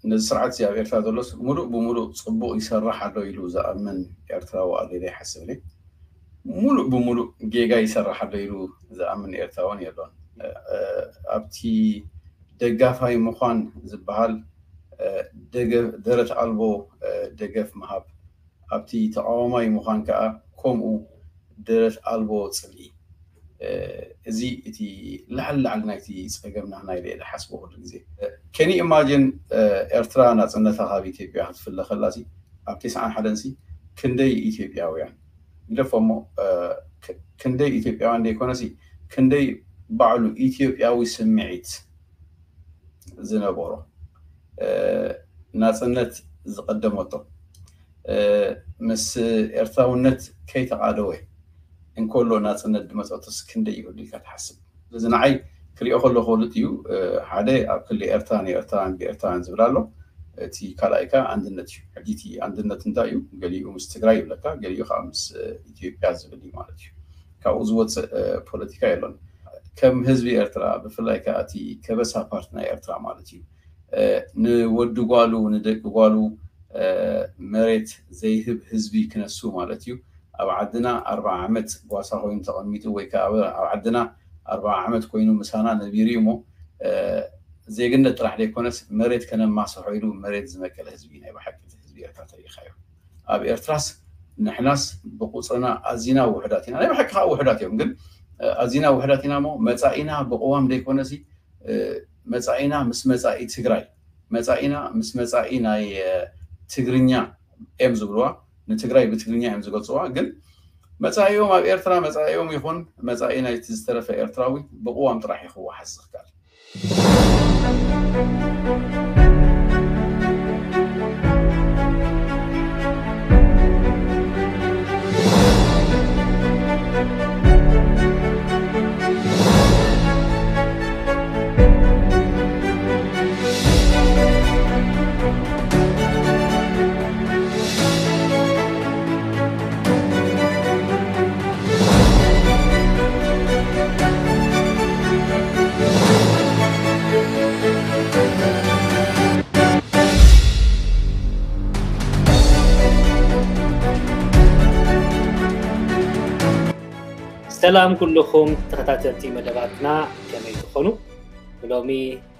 ነዚ ስርዓት እዚ ኣብ ኤርትራ ዘሎስ ሙሉእ ብሙሉእ ጽቡቕ ይሰርሕ ኣሎ ኢሉ ዝኣምን ኤርትራዊ ኣሎ ኢለ ይሓስብ እየ። ሙሉእ ብሙሉእ ጌጋ ይሰርሕ ኣሎ ኢሉ ዝኣምን ኤርትራውን የሎን። ኣብቲ ደጋፋይ ምዃን ዝበሃል ደረት ኣልቦ ደገፍ ምሃብ፣ ኣብቲ ተቃዋማይ ምዃን ከዓ ከምኡ ደረት ኣልቦ ጽልኢ። እዚ እቲ ላዕሊ ላዕሊ ናይቲ ጸገም ናህና ኢለ እየ ዝሓስቦ ኩሉ ግዜ። ከኒ ኢማጅን ኤርትራ ናጽነታ ካብ ኢትዮጵያ ክትፍለ ከላሲ ኣብ ተስዓን ሓደን ሲ ክንደይ ኢትዮጵያውያን ግደፎ እሞ ክንደይ ኢትዮጵያውያን ዘይኮነሲ ክንደይ ባዕሉ ኢትዮጵያዊ ስምዒት ዝነበሮ ናጽነት ዝቐደመቶ ምስ ኤርትራውነት ከይተቓደወ እንከሎ ናጽነት ዝመጸቶስ ክንደይ ይህሉ ኢልካ ትሓስብ? እዚ ንዓይ ክሪኦ ከለኹ ክልጥ እዩ። ሓደ ኣብ ክሊ ኤርትራን ኤርትራን ብኤርትራን ዝብል ኣሎ። እቲ ካልኣይ ከ ኣንድነት እዩ። ሕጂ እቲ ኣንድነት እንታይ እዩ? ገሊኡ ምስ ትግራይ ይብለካ፣ ገሊኡ ከዓ ምስ ኢትዮጵያ ዝብል እዩ ማለት እዩ። ካብኡ ዝወፅእ ፖለቲካ የሎን። ከም ህዝቢ ኤርትራ ብፍላይ ከዓ እቲ ከበሳ ፓርቲ ናይ ኤርትራ ማለት እዩ ንወዲ ጓሉ ንደቂ ጓሉ መሬት ዘይህብ ህዝቢ ክነሱ ማለት እዩ። ኣብ ዓድና ኣርባዓ ዓመት ጓሳ ኮይኑ ተቐሚጡ ወይ ከዓ ኣብ ዓድና ኣርባዓ ዓመት ኮይኑ ምሳና ነቢሩ እዩ እሞ ዜግነት ጥራሕ ዘይኮነስ መሬት ከነማስሖ ኢሉ መሬት ዝመቀለ ህዝቢ ናይ ብሓቂ ህዝቢ ኤርትራ ተሪኢኻዮ። ኣብ ኤርትራስ ንሕናስ ብቁፅርና ኣዚና ውሕዳት ኢና። ናይ ብሓቂ ከዓ ውሕዳት እዮም፣ ግን ኣዚና ውሕዳት ኢና እሞ መፃኢና ብቅዋም ዘይኮነሲ መፃኢና ምስ መፃኢ ትግራይ መፃኢና ምስ መፃኢ ናይ ትግርኛ እዮም ዝብልዋ። ንትግራይ ብትግርኛ እዮም ዝገልፅዋ። ግን መፃኢኦም ኣብ ኤርትራ መፃኢኦም ይኹን መፃኢ ናይቲ ዝተረፈ ኤርትራዊ ብቅዋም ጥራሕ እዩ ክወሓስ ዝኽኣል። ሰላም ኩልኹም ተኸታተልቲ መደባትና፣ ከመይ ትኾኑ? ብሎሚ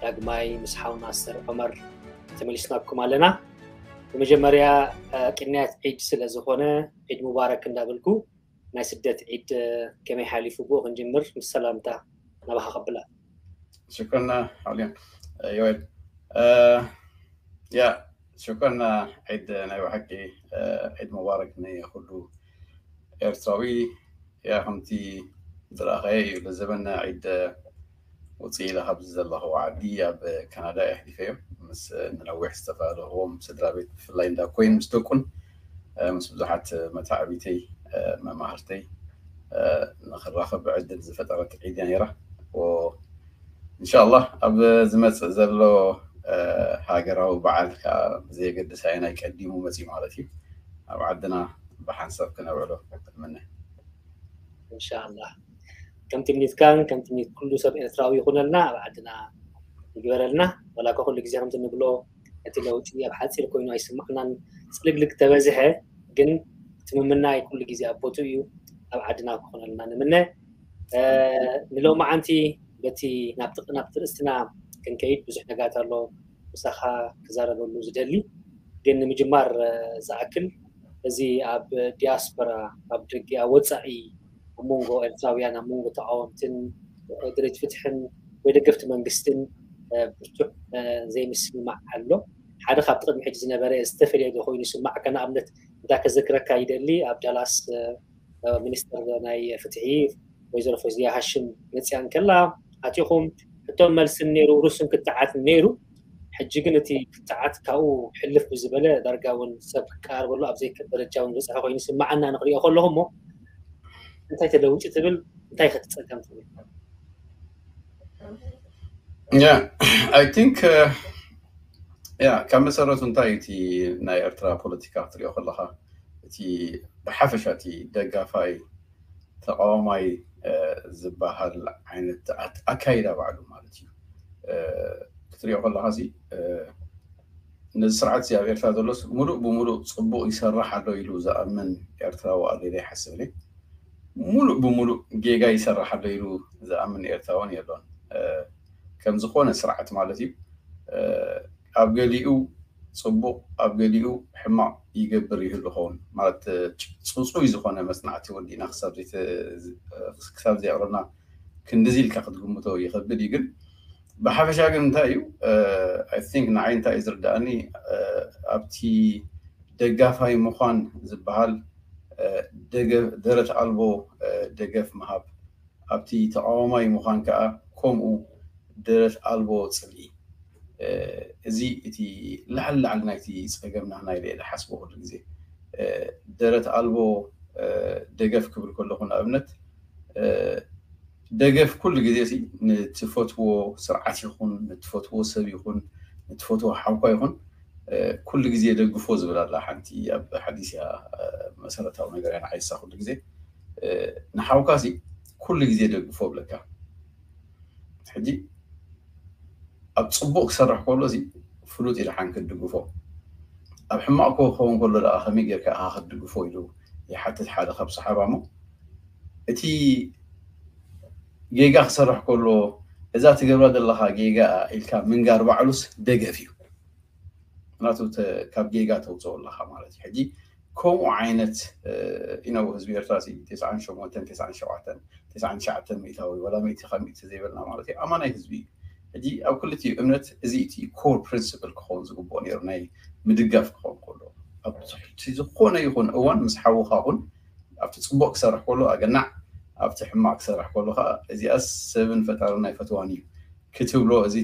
ዳግማይ ምስ ሓው ናስር ዑመር ተመሊስናኩም ኣለና። ብመጀመርያ ቅንያት ዒድ ስለ ዝኾነ ዒድ ሙባረክ እንዳበልኩ ናይ ስደት ዒድ ከመይ ሓሊፉ ብኡ ክንጅምር ምስ ሰላምታ ናባኻ ከብላ። ሽኮርና ሓውልያ ዮኤል። ያ ሽኮርና ዒድ ናይ ብሓቂ ዒድ ሙባረክ ንኹሉ ኤርትራዊ። ያ ከምቲ ዝረኣኻዮ እዩ ለዘበና ዒድ ውፅእ ኢለ ካብዚ ዘለኹ ዓዲ ኣብ ካናዳ እየ ኣሕሊፈዮ ምስ ንነዊሕ ዝተፈላለኹዎም ስድራ ቤት ብፍላይ እንዳ ኮይን ምስ ደቁን ምስ ብዙሓት መታዕቢተይ መማህርተይ ንክራኸብ ዕድል ዝፈጠረት ዒድ እያ ነይራ። እንሻላ ኣብ ዝመፅእ ዘሎ ሃገራዊ በዓል ከዓ ብዘየገድስ ኣየናይ ቀዲሙ መፅዩ ማለት እዩ ኣብ ዓድና ብሓንሳብ ክነብዕሎ እምነ። እንሻላ ከም ትምኒትካን ከም ትምኒት ኩሉ ሰብ ኤርትራዊ ይኹነልና፣ ኣብ ዓድና ይግበረልና። ዋላ እኳ ኩሉ ግዜ ከምቲ ንብሎ እቲ ለውጢ ኣብ ሓፂር ኮይኑ ኣይስማዕናን፣ ፅልግልግ ተበዝሐ ግን እቲ ምምናይ ኩሉ ግዜ ኣብ ቦትኡ እዩ። ኣብ ዓድና ክኾነልና ንምነ። ንሎማዓንቲ በቲ ናብቲ ናብቲ ርእስትና ክንከይድ ብዙሕ ነጋት ኣሎ ምሳኻ ክዛረበሉ ዝደሊ፣ ግን ንምጅማር ዝኣክል እዚ ኣብ ዲያስፖራ ኣብ ደገ ኣብ ወፃኢ ኣብ መንጎ ኤርትራውያን ኣብ መንጎ ተቃወምትን ድሌት ፍትሕን ወይ ደገፍቲ መንግስትን ብርቱዕ ዘይምስምማዕ ኣሎ። ሓደ ካብቲ ቅድሚ ሕጂ ዝነበረ ዝተፈለየ ዶ ኮይኑ ይስማዕካ? ንኣብነት እንዳ ከዘክረካ ይደሊ ኣብ ዳላስ ሚኒስተር ናይ ፍትሒ ወይዘሮ ፈዚያ ሃሽም መፅያ እንከላ ኣቲኹም ሕቶን መልስን ነይሩ፣ ርሱን ክትዓት ነይሩ። ሕጂ ግን እቲ ክትዓት ካብኡ ሕልፍ ብዝበለ ዳርጋ እውን ሰብ ክቀራርበሉ ኣብ ዘይክእል ደረጃ እውን ዝበፅሐ ኮይኑ ይስማዓና ንክሪኦ ከለኹ እሞ እንታይ ተለዊጡ ትብል እንታይ ከትፀገም ትብል? Yeah, I think yeah ካብ መሰረቱ እንታይ እቲ ናይ ኤርትራ ፖለቲካ ክትሪኦ ከለካ እቲ ብሓፈሻ እቲ ደጋፋይ ተቃዋማይ ዝበሃል ዓይነት ኣካይዳ ባዕሉ ማለት እዩ ክትሪኦ ከለካ ሲ ነዚ ስርዓት እዚ ኣብ ኤርትራ ዘሎስ ሙሉእ ብሙሉእ ጽቡቕ ይሰርሕ ኣሎ ኢሉ ዝኣምን ኤርትራዊ ኣሎ ኢለ ይሓስብ እየ። ሙሉእ ብሙሉእ ጌጋ ይሰርሕ ኣሎ ኢሉ ዝኣምን ኤርትራውን የሎን። ከም ዝኾነ ስርዓት ማለት እዩ። ኣብ ገሊኡ ጽቡቕ፣ ኣብ ገሊኡ ሕማቕ ይገብር ይህሉ ኸውን። ማለት ጽጹይ ዝኾነ መጽናዕቲ ወዲእና ክሳብ ዘየቕረብና ክንድዚ ኢልካ ክትግምቶ ይኸብድ እዩ። ግን ብሓፈሻ ግን እንታይ እዩ፣ I think ንዓይ እንታይ እዩ ዝርዳእኒ፣ ኣብቲ ደጋፋይ ምዃን ዝበሃል ደረት ኣልቦ ደገፍ ምሃብ፣ ኣብቲ ተቃዋማይ ምዃን ከዓ ከምኡ ደረት ኣልቦ ጽልኢ። እዚ እቲ ላዕሊ ላዕሊ ናይቲ ጸገምና ናይ ኢለ ዝሓስቦ ኩሉ ግዜ። ደረት ኣልቦ ደገፍ ክብል ከለኹ ንኣብነት ደገፍ ኩሉ ግዜ ንትፈትዎ ስርዓት ይኹን ንትፈትዎ ሰብ ይኹን ንትፈትዎ ሓውኳ ይኹን ኩሉ ግዜ ደግፎ ዝብል ኣላ ሓንቲ ኣብ ሓዲስ እያ። መሰረታዊ ነገር እያ ንዓይሳ ኩሉ ግዜ ንሓውካ ሲ ኩሉ ግዜ ደግፎ ብለካ። ሕጂ ኣብ ጽቡቕ ክሰርሕ ከሎ ሲ ፍሉጥ ኢልሓን ክትድግፎ፣ ኣብ ሕማቕ ክኸውን ከሎ ደኣ ከመይ ጌርካ ኢኻ ክትድግፎ ኢሉ ይሓትት ሓደ ካብ ሰሓባ። እሞ እቲ ጌጋ ክሰርሕ ከሎ እዛ ትገብራ ዘለኻ ጌጋ ኢልካ ምንጋር ባዕሉስ ደገፍ እዩ። ምክንያቱ ካብ ጌጋ ተውፅኦ ኣለካ ማለት እዩ። ሕጂ ከምኡ ዓይነት ኢነው ህዝቢ ኤርትራ ሲ ተስዓን ሸሞንተን ተስዓን ሸውዓተን ተስዓን ትሽዓተን ሚእታዊ ወላ ሚእቲ ካብ ሚእቲ ዘይበልና ማለት እዩ ኣማናይ ህዝቢ እዩ። ሕጂ ኣብ ክልቲኡ እምነት እዚ እቲ ኮር ፕሪንስፕል ክኸውን ዝግብኦ ነይሩ ናይ ምድጋፍ ክኸውን ከሎ ኣብ ዝኾነ ይኹን እዋን ምስ ሓውካ ኹን ኣብቲ ፅቡቅ ክሰርሕ ከሎ ኣገናዕ ኣብቲ ሕማቅ ክሰርሕ ከሎ ከዓ እዚኣስ ሰብን ፈጣርን ናይ ፈትዋን እዩ ክትብሎ እዚ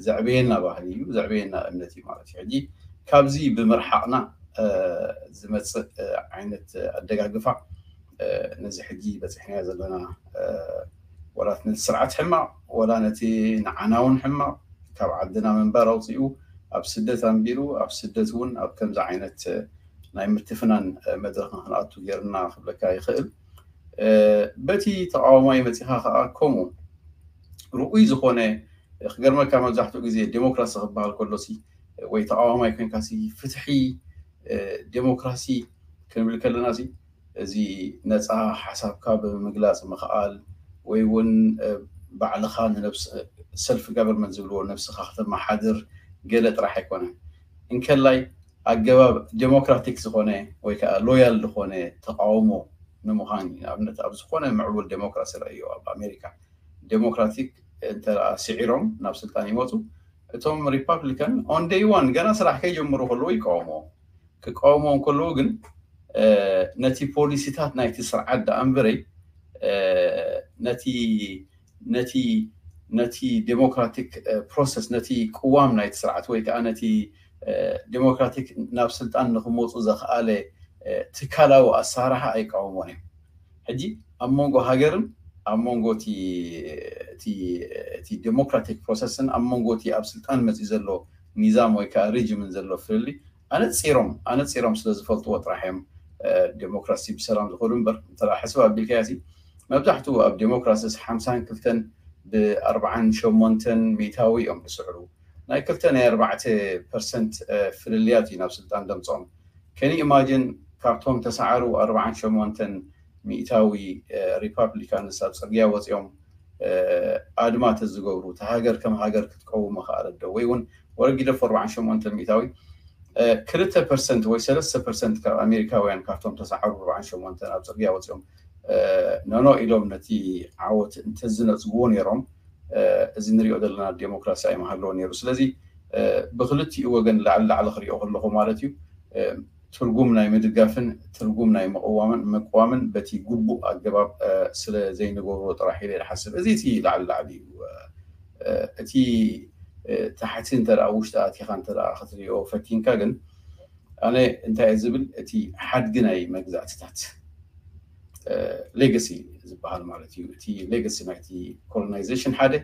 ዘዕበየና ባህሊ እዩ ዘዕበየና እምነት እዩ ማለት እዩ። ሕጂ ካብዚ ብምርሓቅና ዝመፅእ ዓይነት ኣደጋግፋ ነዚ ሕጂ በፂሕናዮ ዘለና ወላት ነቲ ስርዓት ሕማቅ ወላ ነቲ ንዓና እውን ሕማቅ ካብ ዓድና ምንባር ኣውፅኡ ኣብ ስደት ኣንቢሩ ኣብ ስደት እውን ኣብ ከምዚ ዓይነት ናይ ምትፍናን መድረክ ንክንኣቱ ገይርና ክብለካ ይኽእል። በቲ ተቃዋማይ መፂኻ ከዓ ከምኡ ርኡይ ዝኾነ ክገርመካ መብዛሕትኡ ግዜ ዴሞክራሲ ክበሃል ከሎሲ ወይ ተቃዋማይ ኮንካሲ ፍትሒ ዴሞክራሲ ክንብል ከለና እዚ ነፃ ሓሳብካ ብምግላፅ ምኽኣል ወይ እውን ባዕልኻ ንነብስ ሰልፍ ጋቨርንመንት ዝብልዎ ነብስኻ ከተመሓድር ገለ ጥራሕ ኣይኮነን። እንከላይ ኣገባብ ዴሞክራቲክ ዝኾነ ወይ ከዓ ሎያል ዝኾነ ተቃውሞ ንምዃን እዩ። ንኣብነት ኣብ ዝኾነ ምዕቡል ዴሞክራሲ ረእዮ ኣብ ኣሜሪካ ዴሞክራቲክ እንተ ስዒሮም ናብ ስልጣን ይመፁ እቶም ሪፓብሊካን ኦን ደይ ዋን ገና ስራሕ ከይጀምሩ ከለዉ ይቃወምዎ። ክቃወምዎ ከለዉ ግን ነቲ ፖሊሲታት ናይቲ ስርዓት ደኣ እምበረይ ነቲ ነቲ ነቲ ዴሞክራቲክ ፕሮሰስ ነቲ ቅዋም ናይቲ ስርዓት ወይ ከዓ ነቲ ዴሞክራቲክ ናብ ስልጣን ንክመፁ ዘኽኣለ ትካላዊ ኣሰራርሓ ኣይቃወሞን እዮም። ሕጂ ኣብ መንጎ ሃገርን ኣብ መንጎ እቲ ዴሞክራቲክ ፕሮሰስን ኣብ መንጎ እቲ ኣብ ስልጣን መፂኡ ዘሎ ኒዛም ወይ ከዓ ሪጅምን ዘሎ ፍልልይ ኣነፂሮም ኣነፂሮም ስለ ዝፈልጥዎ ጥራሕ እዮም ዴሞክራሲ ብሰላም ዝኸዱ እምበር እንተ ሕስብ ኣቢልካዮ መብዛሕትኡ ኣብ ዴሞክራሲስ ሓምሳን ክልተን ብኣርባዓን ሸሞንተን ሚእታዊ እዮም ዝስዕሩ ናይ ክልተ ናይ ኣርባዕተ ፐርሰንት ፍልልያት እዩ ናብ ስልጣን ደምፅኦም ከኒ ኢማጅን ካብቶም ተሰዓሩ ኣርባዓን ሸሞንተን ሚእታዊ ሪፓብሊካንስ ኣብ ፅርግያ ወፂኦም ኣድማ ተዝገብሩ እቲ ሃገር ከም ሃገር ክትቀውም መኽኣለት ዶ ወይ እውን ወረጊደፎ ኣርባዓን ሸሞንተ ሚእታዊ ክልተ ፐርሰንት ወይ ሰለስተ ፐርሰንት ካብ ኣሜሪካውያን ካብቶም ተሰዓሩ ኣርባዓን ሸሞንተን ኣብ ፅርግያ ወፂኦም ኖኖ ኢሎም ነቲ ዓወት እንተዝነፅግዎ ነይሮም እዚ ንሪኦ ዘለና ዴሞክራሲ ኣይምሃለዎ ነይሩ። ስለዚ ብክልቲኡ ወገን ላዕሊ ላዕሊ ክሪኦ ከለኹ ማለት እዩ ትርጉም ናይ ምድጋፍን ትርጉም ናይ ምቕዋምን ምቅዋምን በቲ ግቡእ ኣገባብ ስለ ዘይንገብሮ ጥራሕ ኢለ ይሓስብ። እዚ እቲ ላዕሊ ላዕሊ እዩ። እቲ ታሕቲ እንተ ውሽጢ ኣቲኻ እንተ ክትሪኦ ፈቲንካ ግን ኣነ እንታይ ዝብል እቲ ሓድጊ ናይ መግዛእትታት ሌጋሲ ዝበሃል ማለት እዩ። እቲ ሌጋሲ ናይቲ ኮሎናይዜሽን ሓደ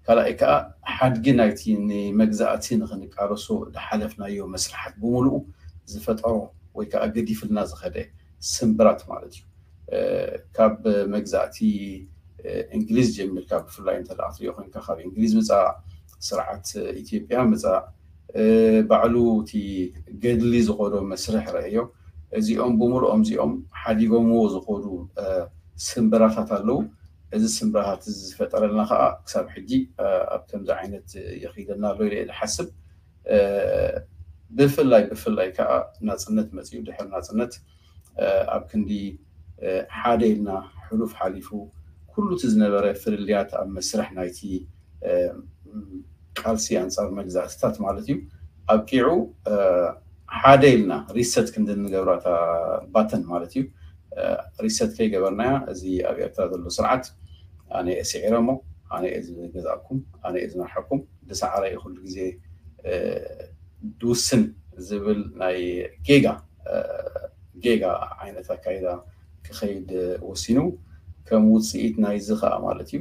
ካልኣይ ከዓ ሓድጊ ናይቲ ንመግዛእቲ ንክንቃለሶ ዝሓለፍናዮ መስርሓት ብምሉኡ ዝፈጠሮ ወይ ከዓ ገዲፍልና ዝኸደ ስምብራት ማለት እዩ። ካብ መግዛእቲ እንግሊዝ ጀሚርካ ብፍላይ እንተ ክትሪኦ ኮይንካ ካብ እንግሊዝ ምፃእ ስርዓት ኢትዮጵያ ምፃእ ባዕሉ እቲ ገድሊ ዝኸዶ መስርሕ ረእዮ። እዚኦም ብምልኦም እዚኦም ሓዲጎምዎ ዝኸዱ ስምብራታት ኣለዉ። እዚ ስምብራታት እዚ ዝፈጠረልና ከዓ ክሳብ ሕጂ ኣብ ከምዚ ዓይነት ይኸይደና ኣሎ ኢለ ዝሓስብ። ብፍላይ ብፍላይ ከዓ ናፅነት መፅኡ ድሕር ናፅነት ኣብ ክንዲ ሓደ ኢልና ሕሉፍ ሓሊፉ ኩሉ እቲ ዝነበረ ፍልልያት ኣብ መስርሕ ናይቲ ቃልሲ ኣንፃር መግዛእትታት ማለት እዩ ኣብቂዑ ሓደ ኢልና ሪሰት ክንዲ ንገብራ እታ ባተን ማለት እዩ። ሪሰት ከይገበርናያ እዚ ኣብ ኤርትራ ዘሎ ስርዓት ኣነ እየ ስዒረ እሞ ኣነ እየ ዝገዛእኩም ኣነ እየ ዝመርሐኩም ድሰዓረ እዩ ኩሉ ግዜ ድውስን ዝብል ናይ ጌጋ ጌጋ ዓይነት ኣካይዳ ክኸይድ ወሲኑ ከም ውፅኢት ናይዚ ከዓ ማለት እዩ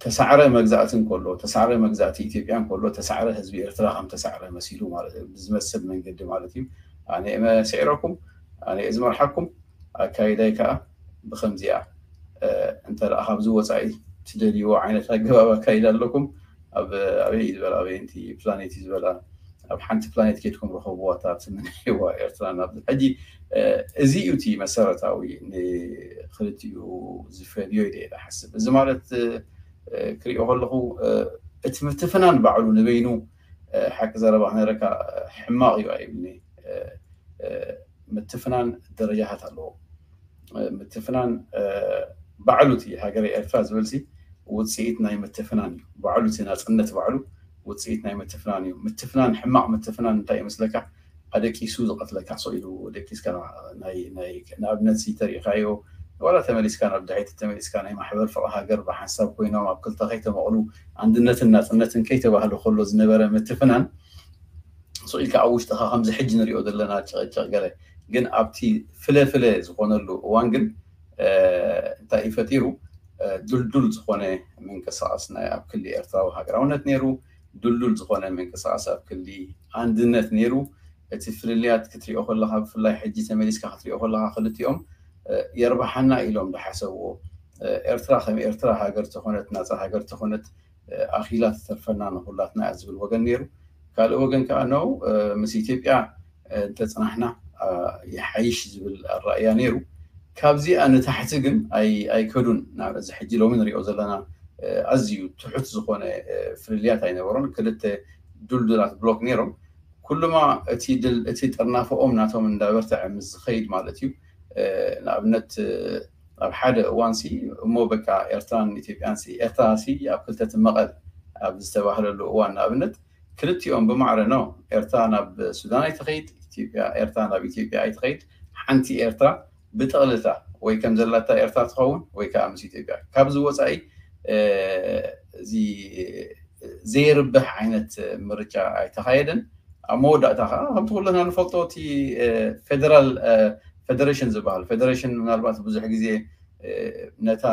ተሳዕረ መግዛእቲ እንከሎ ተሳዕረ መግዛእቲ ኢትዮጵያ እንከሎ ተሳዕረ ህዝቢ ኤርትራ ከም ተሳዕረ መሲሉ ማለት እዩ ብዝመስል መንገዲ ማለት እዩ ኣነ እየ ስዒረኩም ኣነ እየ ዝመርሓኩም ኣካይዳይ ከዓ ብከምዚኣ እንተ ደኣ ካብዚ ወፃኢ ትደልይዎ ዓይነት ኣገባብ ኣካይዳ ኣለኩም ኣብ ኣበይ እዩ ዝበላ ኣበይ እንቲ ፕላኔት እዩ ዝበላ ኣብ ሓንቲ ፕላኔት ከድኩም ረኸብዋ እታ ትምንይዋ ኤርትራ ናብ ሕጂ እዚ እዩ እቲ መሰረታዊ ንክልቲኡ ዝፈልዮ ኢለ እየ ሓስብ እዚ ማለት ክሪኦ ከለኹ እቲ ምትፍናን ባዕሉ ንበይኑ ሓቂ ዘረባ ክነረካ ሕማቕ እዩ ኣይብኒ ምትፍናን ደረጃታት ኣለዎ ምትፍናን ባዕሉ እቲ ሃገረ ኤርትራ ዝበልሲ ውፅኢት ናይ ምትፍናን እዩ ባዕሉ እቲ ናፅነት ባዕሉ ውፅኢት ናይ ምትፍናን እዩ ምትፍናን ሕማቕ ምትፍናን እንታይ ይመስለካ ኣደቂሱ ዝቐትለካ ሰው ኢሉ ደቂስካ ንኣብነት ተሪኢኻዮ ዋላ ተመሊስካ ናብ ድሕይቲ ተመሊስካ ናይ ማሕበር ፍቕሪ ሃገር ብሓንሳብ ኮይኖም ኣብ ክልተ ከይተመቕሉ ኣንድነትን ናፅነትን ከይተባህለ ከሎ ዝነበረ ምትፍናን ስቕ ኢልካ ኣብ ውሽጥኻ ከምዚ ሕጂ ንሪኦ ዘለና ጭቕጭቕ ገለ ግን ኣብቲ ፍለ ፍለ ዝኾነሉ እዋን ግን እንታይ እዩ ፈጢሩ ድልዱል ዝኾነ ምንቅስቃስ ናይ ኣብ ክሊ ኤርትራዊ ሃገራውነት ነይሩ ድልዱል ዝኾነ ምንቅስቃስ ኣብ ክሊ ኣንድነት ነይሩ እቲ ፍልልያት ክትሪኦ ከለካ ብፍላይ ሕጂ ተመሊስካ ክትሪኦ ከለካ ክልቲኦም የርባሓና ኢሎም ዝሓሰብዎ ኤርትራ ከም ኤርትራ ሃገር ተኾነት ናፃ ሃገር ተኾነት ኣኺላ ትተርፈና ንኹላትና እያ ዝብል ወገን ነይሩ ካልእ ወገን ከዓ ነው ምስ ኢትዮጵያ እንተፅናሕና ይሓይሽ ዝብል ኣራእያ ነይሩ ካብዚኣ ንታሕቲ ግን ኣይከዱን እዚ ሕጂ ሎሚ ንሪኦ ዘለና ኣዝዩ ትሑት ዝኾነ ፍልልያት ኣይነበሮን ክልተ ዱልዱላት ብሎክ ነይሮም ኩሉማ እቲ ድል እቲ ጥርናፈኦም ናቶም እንዳበርትዐ ምስ ዝኸይድ ማለት እዩ ንኣብነት ኣብ ሓደ እዋን ሲ እሞ በቃ ኤርትራን ኢትዮጵያን ሲ ኤርትራ ሲ ኣብ ክልተ ትመቐል ኣብ ዝተባህለሉ እዋን ንኣብነት ክልቲኦም ብማዕረ ነው ኤርትራ ናብ ሱዳን ኣይትኸይድ ኢትዮጵያ ኤርትራ ናብ ኢትዮጵያ ኣይትኸይድ ሓንቲ ኤርትራ ብጥቕልታ ወይ ከም ዘላታ ኤርትራ ትኸውን ወይ ከዓ ምስ ኢትዮጵያ ካብዚ ወፃኢ እዚ ዘይርብሕ ዓይነት ምርጫ ኣይተኻየደን ኣብ መወዳእታ ከዓ ከምቲ ኩለና ንፈልጦ እቲ ፌደራል ፌደሬሽን ዝበሃል ፌደሬሽን ምናልባት ብዙሕ ግዜ ነታ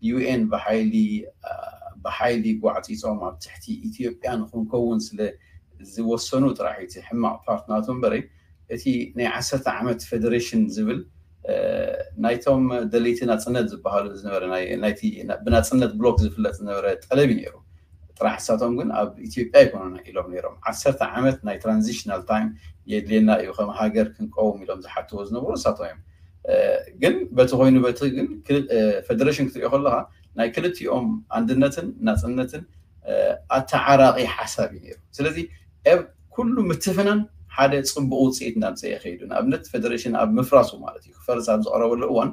ዩኤን ብሓይሊ ብሓይሊ ጓዕፂፆም ኣብ ትሕቲ ኢትዮጵያ ንክንከውን ስለ ዝወሰኑ ጥራሕ እቲ ሕማቕ ፓርት ናቱ እምበረይ እቲ ናይ ዓሰርተ ዓመት ፌደሬሽን ዝብል ናይቶም ደለይቲ ናፅነት ዝበሃሉ ዝነበረ ናይቲ ብናፅነት ብሎክ ዝፍለጥ ዝነበረ ጠለብ እዩ ነይሩ ጥራሕ እሳቶም ግን ኣብ ኢትዮጵያ ኣይኮኑን ኢሎም ነይሮም ዓሰርተ ዓመት ናይ ትራንዚሽናል ታይም የድልየና እዩ ከም ሃገር ክንቀውም ኢሎም ዝሓትዎ ዝነበሩ እሳቶም እዮም ግን በቲ ኮይኑ በቲ ግን ፌደሬሽን ክትሪኦ ከለካ ናይ ክልቲኦም ኣንድነትን ናፅነትን ኣተዓራቂ ሓሳብ እዩ ነይሩ ስለዚ ኩሉ ምትፍናን ሓደ ፅቡቅ ውፅኢት እናምፀ ይኸይዱ ንኣብነት ፌደሬሽን ኣብ ምፍራሱ ማለት እዩ ክፈርስ ኣብ ዝቀረበሉ እዋን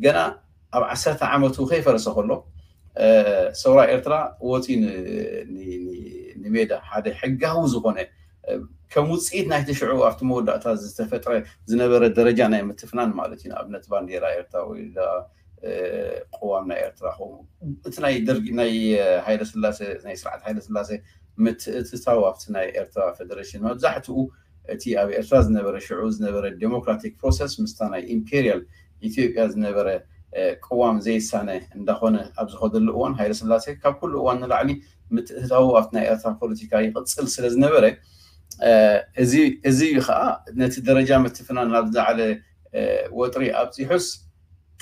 ገና ኣብ ዓሰርተ ዓመቱ ከይፈረሰ ከሎ ሰውራ ኤርትራ ወፂ ንሜዳ ሓደ ሕጋዊ ዝኾነ ከም ውፅኢት ናይቲ ሽዑ ኣብቲ መወዳእታ ዝተፈጥረ ዝነበረ ደረጃ ናይ ምትፍናን ማለት እዩ ንኣብነት ባንዴራ ኤርትራ ወይ ቅዋም ናይ ኤርትራ ኸው እቲ ናይ ደርጊ ናይ ሃይለ ስላሴ ናይ ስርዓት ሃይለ ስላሴ ምትእትታው ኣብቲ ናይ ኤርትራ ፌደሬሽን መብዛሕትኡ እቲ ኣብ ኤርትራ ዝነበረ ሽዑ ዝነበረ ዴሞክራቲክ ፕሮሰስ ምስታ ናይ ኢምፔሪያል ኢትዮጵያ ዝነበረ ቅዋም ዘይሳነ እንዳኾነ ኣብ ዝኸደሉ እዋን ሃይለ ስላሴ ካብ ኩሉ እዋን ንላዕሊ ምትእትታው ኣብቲ ናይ ኤርትራ ፖለቲካ ይቕፅል ስለ ዝነበረ እዚ እዩ ከዓ ነቲ ደረጃ ምትፍናን ናብ ዝለዓለ ወጥሪ ኣብፂሑስ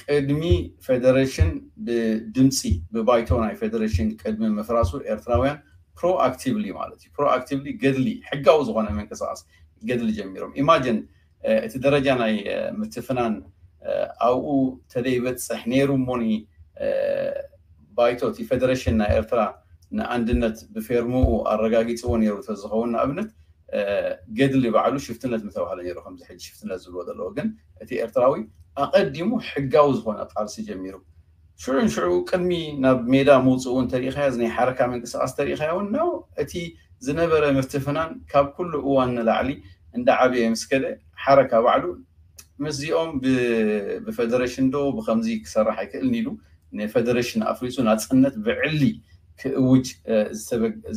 ቅድሚ ፌደሬሽን ብድምፂ ብባይቶ ናይ ፌደሬሽን ቅድሚ ምፍራሱ ኤርትራውያን ፕሮኣክቲቭሊ ማለት እዩ። ፕሮኣክቲቭሊ ገድሊ፣ ሕጋዊ ዝኾነ ምንቅስቃስ ገድሊ ጀሚሮም። ኢማጅን እቲ ደረጃ ናይ ምትፍናን ኣብኡ ተደይበፅሕ ነይሩ እሞኒ፣ ባይቶ እቲ ፌደሬሽን ናይ ኤርትራ ንኣንድነት ብፌርምኡ ኣረጋጊፅዎ ነይሩ ተዝኸውን፣ ንኣብነት ገድሊ ባዕሉ ሽፍትነት ምተባህለ ነይሩ፣ ከምዚ ሕጂ ሽፍትነት ዝብሎ ዘለዎ። ግን እቲ ኤርትራዊ ኣቐዲሙ ሕጋዊ ዝኾነ ቃልሲ ጀሚሩ። ሽዑ ንሽዑ ቅድሚ ናብ ሜዳ ምውፅኡ እንተሪኢኻዮ፣ እዚ ናይ ሓረካ ምንቅስቃስ ተሪኢኻዮ እውን ነው፣ እቲ ዝነበረ ምትፍናን ካብ ኩሉ እዋን ንላዕሊ እንዳዓበየ ምስ ከደ፣ ሓረካ ባዕሉ ምስዚኦም ብፌደሬሽን ዶ ብከምዚ ክሰርሕ ኣይክእልን ኢሉ ንፌደሬሽን ኣፍሪሱ ናፅነት ብዕሊ ክእውጅ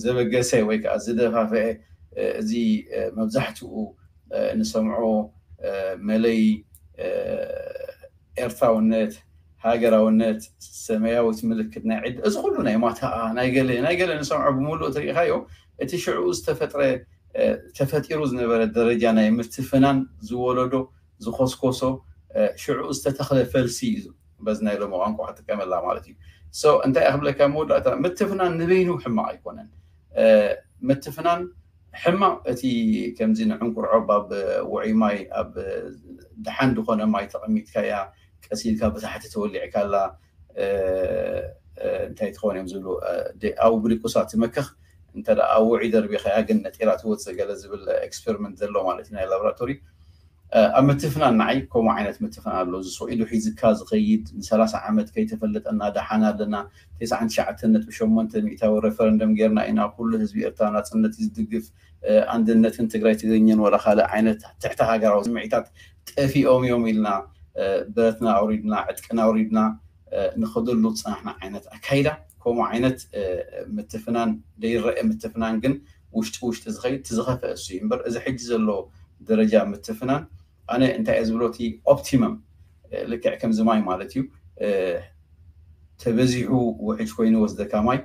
ዘበገሰ ወይ ከዓ ዝደፋፍአ፣ እዚ መብዛሕትኡ ንሰምዖ መለይ ኤርትራውነት፣ ሃገራውነት፣ ሰማያዊት ምልክት ናይ ዕድ፣ እዚ ኩሉ ናይ ማታኣ ናይ ገለ ናይ ገለ ንሰምዖ ብምሉእ ተሪኢኻዮ፣ እቲ ሽዑ ዝተፈጥረ ተፈጢሩ ዝነበረ ደረጃ ናይ ምትፍናን ዝወለዶ ዝኮስኮሶ ሽዑ ዝተተኽለ ፈልሲ እዩ። በዚ ናይ ሎሚ ቋንቋ ክጥቀመላ ማለት እዩ። ሶ እንታይ ክብለካ መወዳእታ፣ ምትፍናን ንበይኑ ሕማቕ ኣይኮነን። ምትፍናን ሕማቕ፣ እቲ ከምዚ ንዕንቁርዖብ ኣብ ውዑይ ማይ፣ ኣብ ደሓን ዝኾነ ማይ ተቐሚጥካያ፣ ቀሲልካ ብታሕቲ ተወሊዕካላ እንታይ ትኸውን እዮም ዝብሉ፣ ኣብኡ ብድቁሳ ትመክኽ፣ እንተ ኣብ ውዑይ ደርቢኻያ ግን ነጢራ ትወፅእ፣ ገለ ዝብል ኤክስፐሪመንት ዘሎ ማለት እዩ ናይ ላብራቶሪ። ኣብ ምትፍናን ንዓይ ከምኡ ዓይነት ምትፍናን ኣሎ። እዚ ሰው ኢዱ ሒዝካ ዝኸይድ፣ ንሰላሳ ዓመት ከይተፈለጠና ደሓን ኣለና፣ ተስዓን ትሽዓተን ነጥቢ ሸሞንተ ሚእታዊ ሬፈረንደም ጌርና ኢና፣ ኩሉ ህዝቢ ኤርትራ ናጽነት እዩ ዝድግፍ፣ ኣንድነትን ትግራይ ትግርኛን ወላ ካልእ ዓይነት ትሕቲ ሃገራዊ ስምዒታት ጠፊኦም እዮም ኢልና፣ ብረትና ኣውሪድና፣ ዕጥቅና ኣውሪድና፣ ንኸደሉ ዝጸናሕና ዓይነት ኣካይዳ፣ ከምኡ ዓይነት ምትፍናን ዘይረአ ምትፍናን ግን ውሽጢ ውሽጢ ዝኸይድ፣ እቲ ዝኸፍአ እሱ እዩ እምበር፣ እዚ ሕጂ ዘሎ ደረጃ ምትፍናን ኣነ እንታይ እየ ዝብሎ፣ እቲ ኦፕቲመም ልክዕ ከምዚ ማይ ማለት እዩ፣ ተበዚሑ ውሕጅ ኮይኑ ወስደካ ማይ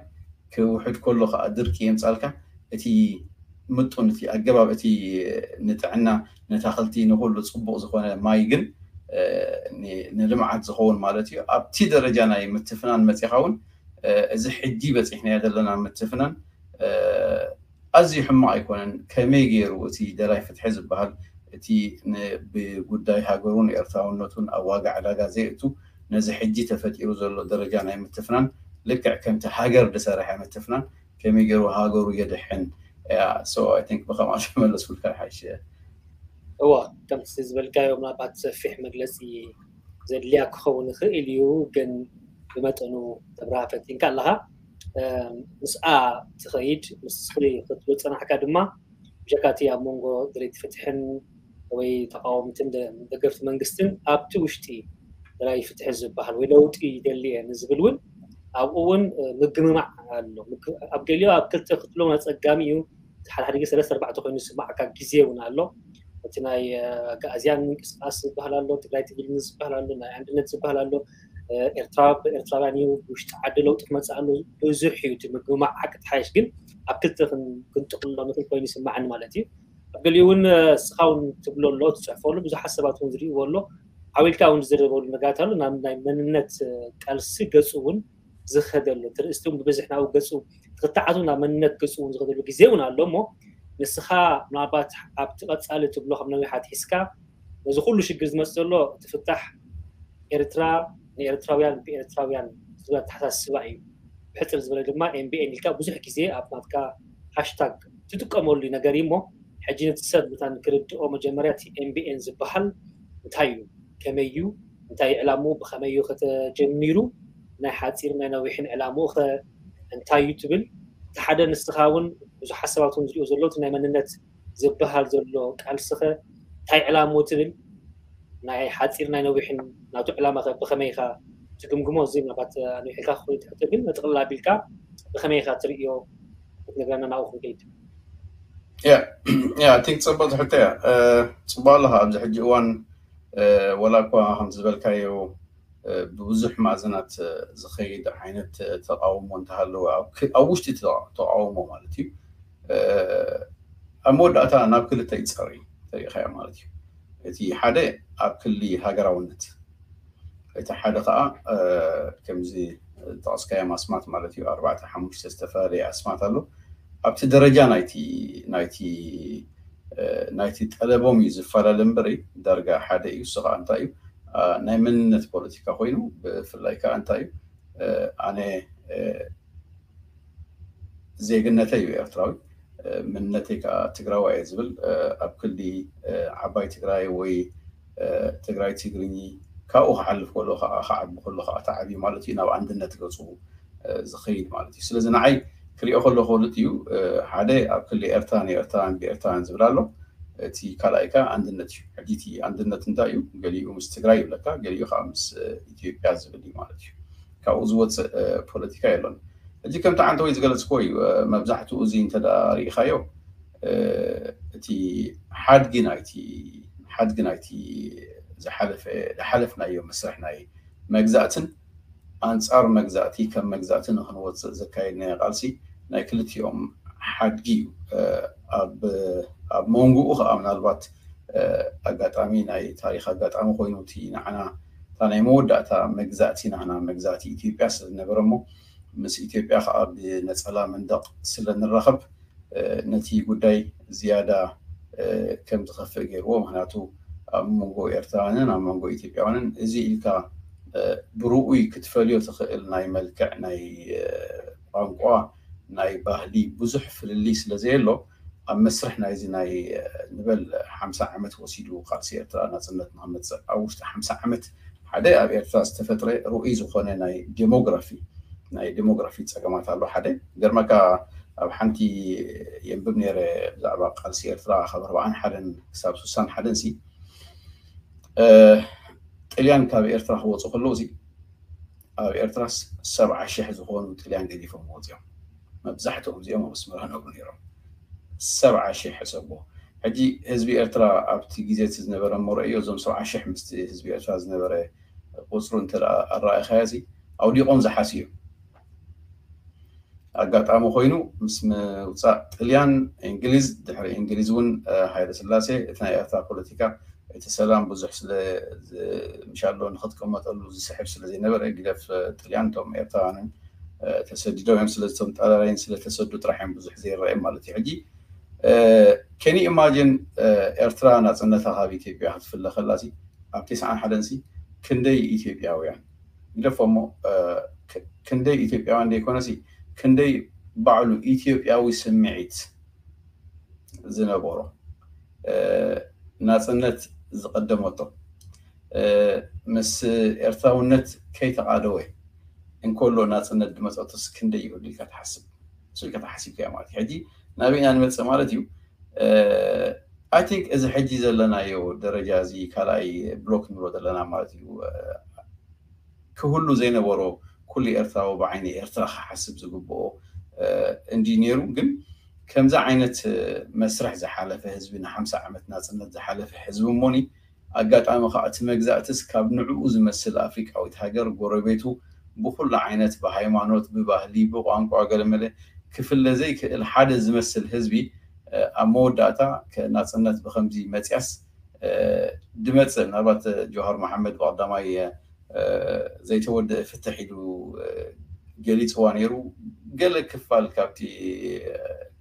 ክውሕድ ከሎ ከዓ ድርቂ የምፃልካ። እቲ ምጡን፣ እቲ ኣገባብ፣ እቲ ንጥዕና፣ ነታኽልቲ፣ ንኩሉ ፅቡቅ ዝኾነ ማይ ግን ንልምዓት ዝኸውን ማለት እዩ። ኣብቲ ደረጃ ናይ ምትፍናን መፂኻ እውን፣ እዚ ሕጂ በፂሕናዮ ዘለና ምትፍናን ኣዝዩ ሕማቕ ኣይኮነን። ከመይ ገይሩ እቲ ደላይ ፍትሒ ዝበሃል፣ እቲ ብጉዳይ ሃገሩን ኤርትራውነቱን ኣብ ዋጋ ዕዳጋ ዘየእቱ፣ ነዚ ሕጂ ተፈጢሩ ዘሎ ደረጃ ናይ ምትፍናን፣ ልክዕ ከምቲ ሃገር ዝሰርሐ ምትፍናን ከመይ ገይሩ ሃገሩ የድሕን? ብኸምኣ ተመለስኩልካ ይሓይሽ። እዋ፣ ከምቲ ዝበልካዮ ምናልባት ሰፊሕ መግለፂ ዘድልያ ክኸውን ይኽእል እዩ፣ ግን ብመጠኑ ተብርሃ ፈቲንካ ኣለኻ። ምስኣ ትኸይድ፣ ምስኺ ክትብል ፀናሕካ ድማ ብጀካ እቲ ኣብ መንጎ ደለይቲ ፍትሕን ወይ ተቃወምትን ደገፍቲ መንግስትን ኣብቲ ውሽጢ ደላይ ፍትሒ ዝበሃል ወይ ለውጢ ይደሊ እየ ንዝብል እውን ኣብኡ እውን ምግምማዕ ኣሎ። ኣብ ገሊኦ ኣብ ክልተ ክትብሎም ኣፀጋሚ እዩ። ሓደ ሓደ ግዜ ሰለስተ ኣርባዕተ ኮይኑ ዝስማዓካ ግዜ እውን ኣሎ። እቲ ናይ ኣጋእዝያን ምንቅስቃስ ዝበሃል ኣሎ፣ ትግራይ ትግርኛ ዝበሃል ኣሎ፣ ናይ ኣንድነት ዝበሃል ኣሎ። ኤርትራ ብኤርትራውያን እዩ፣ ብውሽጢ ዓዲ ለውጢ ክመፅእ ኣሎ። ብዙሕ እዩ እቲ ምግምማዕ ሓቂ ተሓይሽ፣ ግን ኣብ ክልተ ክንጥቕሎ ንኽእል ኮይኑ ይስማዓኒ ማለት እዩ። ኣብ ገሊኡ እውን እስኻ እውን ትብሎ ኣሎ፣ ትፅሕፎ ኣሎ፣ ብዙሓት ሰባት እውን ዝርእይዎ ኣሎ። ዓው ኢልካ እውን ዝዝረበሉ ነገራት ኣሎ። ናብ ናይ መንነት ቃልሲ ገፁ እውን ዝኸደሉ፣ ትርእስቲ እውን ብብዝሕ ናብኡ ገፁ ትኽተዓቱ ናብ መንነት ገፁ እውን ዝኸደሉ ግዜ እውን ኣሎ። እሞ ንስኻ ምናልባት ኣብቲ ቀፃሊ ትብሎ ከም ነዊሕ ኣትሒዝካ ነዚ ኩሉ ሽግር ዝመፅእ ዘሎ እቲ ፍታሕ ኤርትራ ንኤርትራውያን ብኤርትራውያን ዝብል ኣተሓሳስባ እዩ። ብሕፅር ዝበለ ድማ ኤምቢኤን ኢልካ ብዙሕ ግዜ ኣብ ናትካ ሃሽታግ ትጥቀመሉ ነገር እዩ። እሞ ሕጂ ነቲ ሰብ መታን ክርድኦ መጀመርያ እቲ ኤምቢኤን ዝበሃል እንታይ እዩ? ከመይ እዩ? እንታይ ዕላምኡ? ብኸመይ እዩ ከተጀሚሩ? ናይ ሓፂር ናይ ነዊሕን ዕላምኡ ኸ እንታይ እዩ ትብል? እቲ ሓደ ንስኻ እውን ብዙሓት ሰባት እውን ዝሪኦ ዘለዉ እቲ ናይ መንነት ዝበሃል ዘሎ ቃልሲ ኸ እንታይ ዕላምኡ ትብል? ናይ ሓፂር ናይ ነዊሕን ናቱ ዕላማ ኸ ብኸመይ ኢኻ ትግምግሞ? እዚ ምናልባት ኣንዊሕልካ ክኸውን ትሕቶ፣ ግን ንጥቕልል ኣቢልካ ብኸመይ ኢኻ ትርእዮ ክትነግረና ናብኡ ክንከይድ። ያ ያ ቲንክ ፅቡቅ ትሕቶ እያ። ፅቡቅ ኣለኻ። ኣብዚ ሕጂ እዋን ወላ እኳ ከም ዝበልካዮ ብብዙሕ ማዕዘናት ዝኸይድ ዓይነት ተቃውሞ እንተሃለወ፣ ኣብ ውሽጢ ተቃውሞ ማለት እዩ፣ ኣብ መወዳእታ ናብ ክልተ ይፀሪ ተሪኢኻዮ ማለት እዩ። እቲ ሓደ ኣብ ክሊ ሃገራውነት፣ እቲ ሓደ ከዓ ከምዚ ጠቕስካዮም ኣስማት ማለት እዩ፣ ኣርባዕተ ሓሙሽተ ዝተፈላለየ ኣስማት ኣሎ። ኣብቲ ደረጃ ናይቲ ናይቲ ናይቲ ጠለቦም እዩ ዝፈላለ እምበሪ፣ ዳርጋ ሓደ እዩ። እሱ ከዓ እንታይ እዩ? ናይ መንነት ፖለቲካ ኮይኑ፣ ብፍላይ ከዓ እንታይ እዩ? ኣነ ዜግነተይ እዩ ኤርትራዊ፣ መንነተይ ከዓ ትግራዋይ እየ ዝብል፣ ኣብ ክሊ ዓባይ ትግራይ ወይ ትግራይ ትግርኚ ካብኡ ክሓልፍ ከሎ ከዓ፣ ክዓቢ ከሎ ከዓ ተዓብዩ ማለት እዩ፣ ናብ ኣንድነት ገፁ ዝኸይድ ማለት እዩ። ስለዚ ንዓይ ክሪኦ ከለኹ ክልቲኡ፣ ሓደ ኣብ ክሊ ኤርትራን ኤርትራን ብኤርትራን ዝብል ኣሎ፣ እቲ ካልኣይ ከዓ ኣንድነት እዩ። ሕጂ እቲ ኣንድነት እንታይ እዩ? ገሊኡ ምስ ትግራይ ይብለካ፣ ገሊኡ ከዓ ምስ ኢትዮጵያ ዝብል እዩ ማለት እዩ። ካብኡ ዝወፅእ ፖለቲካ የሎን። ሕጂ ከምቲ ዓንተወይ ዝገለፅክዎ እዩ፣ መብዛሕትኡ እዚ እንተ ርኢኻዮ፣ እቲ ሓድጊ ናይቲ ሓድጊ ናይቲ ዝሓለፈ ዝሓለፍናዮ መስርሕ ናይ መግዛእትን ኣንጻር መግዛእቲ ከም መግዛእቲ ንክንወፅእ ዘካየድናዮ ቃልሲ ናይ ክልቲኦም ሓድጊ እዩ። ኣብ መንጎኡ ከዓ ምናልባት ኣጋጣሚ ናይ ታሪክ ኣጋጣሚ ኮይኑ እቲ ንዓና እታ ናይ መወዳእታ መግዛእቲ ናህና መግዛእቲ ኢትዮጵያ ስለዝነበረ እሞ ምስ ኢትዮጵያ ከዓ ብነፀላ መንደቕ ስለንራኸብ ነቲ ጉዳይ ዝያዳ ከም ዝኸፍእ ገይርዎ። ምክንያቱ ኣብ መንጎ ኤርትራውያንን ኣብ መንጎ ኢትዮጵያውያንን እዚ ኢልካ ብርኡይ ክትፈልዮ ትኽእል ናይ መልክዕ፣ ናይ ቋንቋ፣ ናይ ባህሊ ብዙሕ ፍልልይ ስለ ዘየሎ ኣብ መስርሕ ናይዚ ናይ ንበል ሓምሳ ዓመት ወሲዱ ቃልሲ ኤርትራ ናፅነት ንክመፅእ ኣብ ውሽጢ ሓምሳ ዓመት ሓደ ኣብ ኤርትራ ዝተፈጥረ ርኡይ ዝኾነ ናይ ዴሞግራፊ ናይ ዴሞግራፊ ፀገማት ኣሎ። ሓደ ገርመካ ኣብ ሓንቲ የንብብ ነይረ ብዛዕባ ቃልሲ ኤርትራ ካብ ኣርባዓን ሓደን ክሳብ ስሳን ሓደን ሲ ጥልያን ካብ ኤርትራ ክወፁ ከለዉ ሲ ኣብ ኤርትራ ሰብዓ ሽሕ ዝኾኑ ጥልያን ገዲፎም ወፂኦም። መብዛሕትኦም እዚኦም ኣብ ኣስመራ ነብሩ ነይሮም። ሰብዓ ሽሕ ሕሰቦ። ሕጂ ህዝቢ ኤርትራ ኣብቲ ግዜ እቲ ዝነበረ መረእዮ እዞም ሰብዓ ሽሕ ምስቲ ህዝቢ ኤርትራ ዝነበረ ቁፅሩ እንተ ኣረኣእኻዮ ሲ ኣውዲቖም ዝሓስዩ እዮም። ኣጋጣሚ ኮይኑ ምስ ምውፃእ ጥልያን እንግሊዝ፣ ድሕሪ እንግሊዝ እውን ሃይለ ስላሴ እቲ ናይ ኤርትራ ፖለቲካ እቲ ሰላም ብዙሕ ስለ ምሻሎ ንክትቀመጠሉ ዝስሕብ ስለ ዘይነበረ ግደፍ ጥልያን እቶም ኤርትራውያንን ተሰዲዶም እዮም። ስለዚ እቶም ጣልያን ስለተሰዱ ጥራሕ እዮም ብዙሕ ዘይረኣዮም ማለት እዩ። ሕጂ ከኒ ኢማጂን ኤርትራ ናፅነታ ካብ ኢትዮጵያ ክትፍለ ከላ ሲ ኣብ ተስዓን ሓደን ሲ ክንደይ ኢትዮጵያውያን ግደፎ እሞ ክንደይ ኢትዮጵያውያን ዘይኮነ ሲ ክንደይ ባዕሉ ኢትዮጵያዊ ስምዒት ዝነበሮ ናፅነት ዝቐደመቶ ምስ ኤርትራውነት ከይተቓደወ እንከሎ ናፅነት ዝመፀቶስ ክንደይ ይህሉ ኢልካ ትሓስብ? እሱ ኢልካ ተሓሲብካዮ ማለት እዩ። ሕጂ ናበይ ኢና ንመፅእ ማለት እዩ? ኣይ ቲንክ እዚ ሕጂ ዘለናዮ ደረጃ እዚ ካልኣይ ብሎክ ንብሎ ዘለና ማለት እዩ። ክህሉ ዘይነበሮ ኩሉ ኤርትራዊ ብዓይኒ ኤርትራ ክሓስብ ዝግብኦ እንዲ ነይሩ። ግን ከምዚ ዓይነት መስርሕ ዝሓለፈ ህዝቢ ንሓምሳ ዓመት ናፅነት ዝሓለፈ ህዝቢ እሞኒ ኣጋጣሚ ከዓ እቲ መግዛእትስ ካብ ንዕኡ ዝመስል ኣፍሪቃዊት ሃገር ጎረቤቱ ብኩሉ ዓይነት ብሃይማኖት ብባህሊ ብቋንቋ ገለመለ ክፍለ ዘይክእል ሓደ ዝመስል ህዝቢ ኣብ መወዳእታ ናፅነት ብከምዚ መፅያስ ድመፅእ ምናልባት ጆሃር መሓመድ ብቀዳማይ ዘይተወደአ ፍትሕ ኢሉ ገሊፅዋ ነይሩ። ገለ ክፋል ካብቲ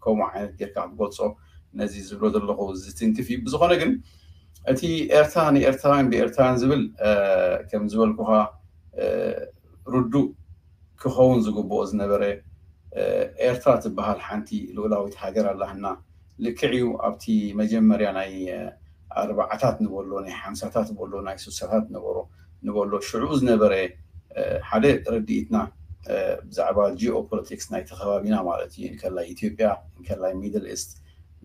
ከምኡ ዓይነት ጌርካ ክትገልፆ ነዚ ዝብሎ ዘለኹ ዝትንክፍ እዩ። ብዝኾነ ግን እቲ ኤርትራ ንኤርትራውያን ብኤርትራውያን ዝብል ከም ዝበልኩኻ ርዱእ ክኸውን ዝግብኦ ዝነበረ ኤርትራ ትበሃል ሓንቲ ልኡላዊት ሃገር ኣላህና። ልክዕ እዩ ኣብቲ መጀመርያ ናይ ኣርባዓታት ንበሎ ናይ ሓምሳታት በሎ ናይ ስሳታት ነበሮ ንበሎ ሽዑ ዝነበረ ሓደ ርድኢትና ብዛዕባ ጂኦፖለቲክስ ናይ ተኸባቢና ማለት እዩ እንከላይ ኢትዮጵያ እንከላይ ሚድል ኢስት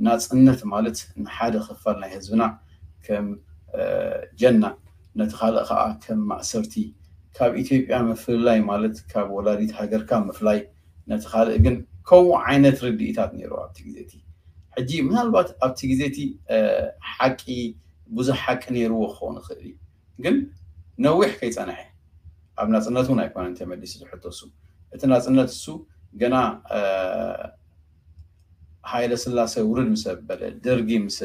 ናፅነት ማለት ንሓደ ክፋል ናይ ህዝብና ከም ጀና ነቲ ካልእ ከዓ ከም ማእሰርቲ ካብ ኢትዮጵያ ምፍልላይ ማለት ካብ ወላዲት ሃገርካ ምፍላይ ነቲ ካልእ ግን ከምኡ ዓይነት ርድኢታት ነይሩ ኣብቲ ግዜ እቲ። ሕጂ ምናልባት ኣብቲ ግዜ እቲ ሓቂ ብዙሕ ሓቂ ነይርዎ ክኸውን ይኽእል እዩ፣ ግን ነዊሕ ከይፀንሐ ኣብ ናፅነት እውን ኣይኮነን ተመሊሱ ዝሕቶ እሱ። እቲ ናፅነት እሱ ገና ሃይለ ስላሴ ውርድ ምስ ኣበለ ደርጊ ምስ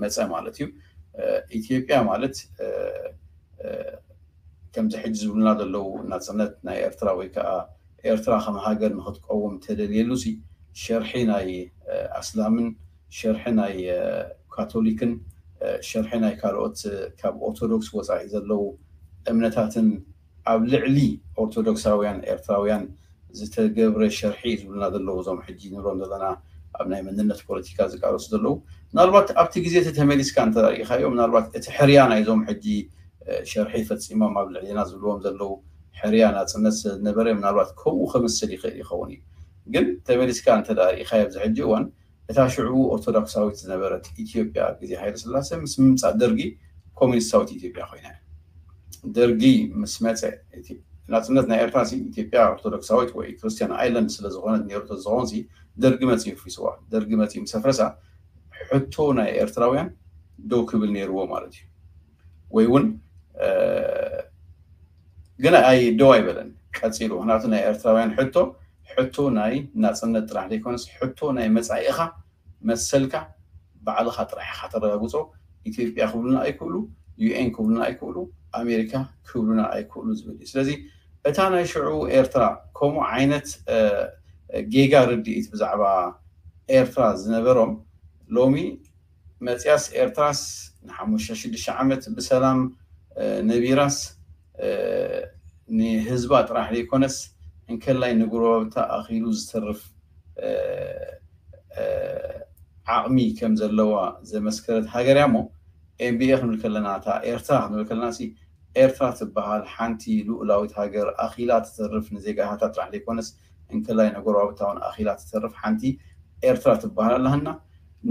መፀ ማለት እዩ። ኢትዮጵያ ማለት ከምዚ ሕጂ ዝብሉና ዘለዉ ናፅነት ናይ ኤርትራ ወይ ከዓ ኤርትራ ከም ሃገር ንክትቀውም ተደልየሉ ሲ ሸርሒ ናይ ኣስላምን ሸርሒ ናይ ካቶሊክን ሸርሒ ናይ ካልኦት ካብ ኦርቶዶክስ ወፃኢ ዘለዉ እምነታትን ኣብ ልዕሊ ኦርቶዶክሳውያን ኤርትራውያን ዝተገብረ ሸርሒ ዝብሉና ዘለዉ እዞም ሕጂ ንብሎም ዘለና ኣብ ናይ መንነት ፖለቲካ ዝቃለሱ ዘለዉ። ምናልባት ኣብቲ ግዜ እቲ ተመሊስካ እንተሪኢኻዮ ምናልባት እቲ ሕርያ ናይዞም ሕጂ ሸርሒ ፈፂሞም ኣብ ልዕሊና ዝብልዎም ዘለዉ ሕርያ ናፅነት ስለዝነበረ ምናልባት ከምኡ ከምስል ይኽእል ይኸውን እዩ። ግን ተመሊስካ እንተ ርኢኻዮ ኣብዚ ሕጂ እዋን እታ ሽዑ ኦርቶዶክሳዊት ዝነበረት ኢትዮጵያ ኣብ ግዜ ሃይለ ስላሴ ምስ ምምፃእ ደርጊ ኮሚኒስታዊት ኢትዮጵያ ኮይና። ደርጊ ምስ መፀ ናፅነት ናይ ኤርትራ ኢትዮጵያ ኦርቶዶክሳዊት ወይ ክርስቲያን ኣይላንድ ስለዝኾነት ነሩ ተዝኾን ደርጊ መፂኡ ፍሪስዋ። ደርጊ መፂኡ ምስ ኣፍረሳ ሕቶ ናይ ኤርትራውያን ደው ክብል ነይርዎ ማለት እዩ። ወይ እውን ግን ኣይ ደው ኣይበለን ቀፂሉ። ምክንያቱ ናይ ኤርትራውያን ሕቶ ሕቶ ናይ ናፅነት ጥራሕ ዘይኮነስ ሕቶ ናይ መፃኢኻ መሰልካ ባዕልኻ ጥራሕ ኢኻ ተረጋግፆ። ኢትዮጵያ ክብሉና ኣይክእሉ፣ ዩኤን ክብሉና ኣይክእሉ፣ ኣሜሪካ ክብሉና ኣይክእሉ ዝብል እዩ። ስለዚ እታ ናይ ሽዑ ኤርትራ ከምኡ ዓይነት ጌጋ ርድኢት ብዛዕባ ኤርትራ ዝነበሮም ሎሚ መፅያስ ኤርትራስ ንሓሙሽተ ሽዱሽተ ዓመት ብሰላም ነቢራስ ንህዝባ ጥራሕ ዘይኮነስ እንከላይ ንጉረባብታ ኣኺሉ ዝተርፍ ዓቕሚ ከም ዘለዋ ዘመስከረት ሃገር እያ። እሞ ኤምቢኤ ክንብል ከለና እታ ኤርትራ ክንብል ከለና ሲ ኤርትራ ትበሃል ሓንቲ ልኡላዊት ሃገር ኣኺላ ትተርፍ ንዜጋታታ ጥራሕ ዘይኮነስ እንከላይ ንጎረባብታ እውን ኣኺላ ትተርፍ ሓንቲ ኤርትራ ትበሃል ኣለሃና።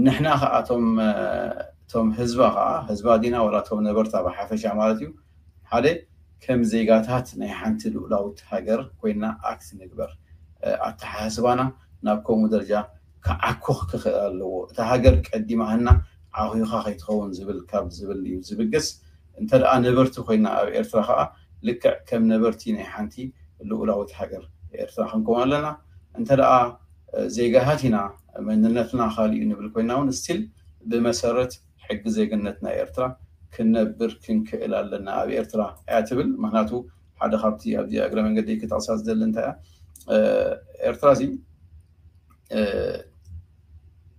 ንሕና ከዓ እቶም እቶም ህዝባ ከዓ ህዝባ ዲና ወላ እቶም ነበርታ ብሓፈሻ ማለት እዩ ሓደ ከም ዜጋታት ናይ ሓንቲ ልኡላዊት ሃገር ኮይና ኣክት ንግበር። ኣተሓሳስባና ናብ ከምኡ ደረጃ ክዓኩኽ ክኽእል ኣለዎ። እታ ሃገር ቀዲማህና ዓኺኻ ከይትኸውን ዝብል ካብ ዝብል እዩ ዝብገስ። እንተ ደኣ ነበርቲ ኮይና ኣብ ኤርትራ ከዓ ልክዕ ከም ነበርቲ ናይ ሓንቲ ልኡላዊት ሃገር ኤርትራ ክንከውን ኣለና። እንተ ደኣ ዜጋታት ኢና መንነትና ካልእ እዩ ንብል ኮይና እውን ስቲል ብመሰረት ሕጊ ዜግነት ናይ ኤርትራ ክነብር ክንክእል ኣለና ኣብ ኤርትራ እያ ትብል። ምክንያቱ ሓደ ካብቲ ኣብዚ እግረ መንገዲ ክጠቕሳ ዝደሊ እንታይ እያ ኤርትራ እዚ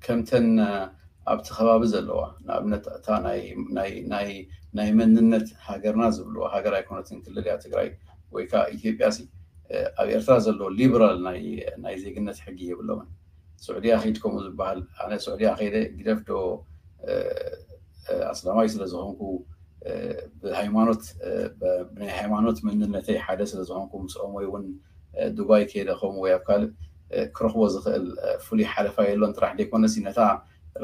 ከምተን ኣብቲ ከባቢ ዘለዋ ንኣብነት እታ ናይ መንነት ሃገርና ዝብልዋ ሃገር ኣይኮነትን ክልል እያ ትግራይ ወይ ከዓ ኢትዮጵያ ሲ ኣብ ኤርትራ ዘሎ ሊበራል ናይ ዜግነት ሕጊ የብሎምን። ስዑድያ ከይድ ከምኡ ዝበሃል ኣነ ስዑድያ ከይደ ግደፍ ዶ ኣስላማይ ስለ ዝኾንኩ ብሃይማኖት ብናይ ሃይማኖት መንነተይ ሓደ ስለ ዝኾንኩ ምስኦም ወይ እውን ዱባይ ከይደ ከምኡ ወይ ኣብ ካልእ ክረኽቦ ዝኽእል ፍሉይ ሓለፋ የሎን ጥራሕ ዘይኮነሲ ነታ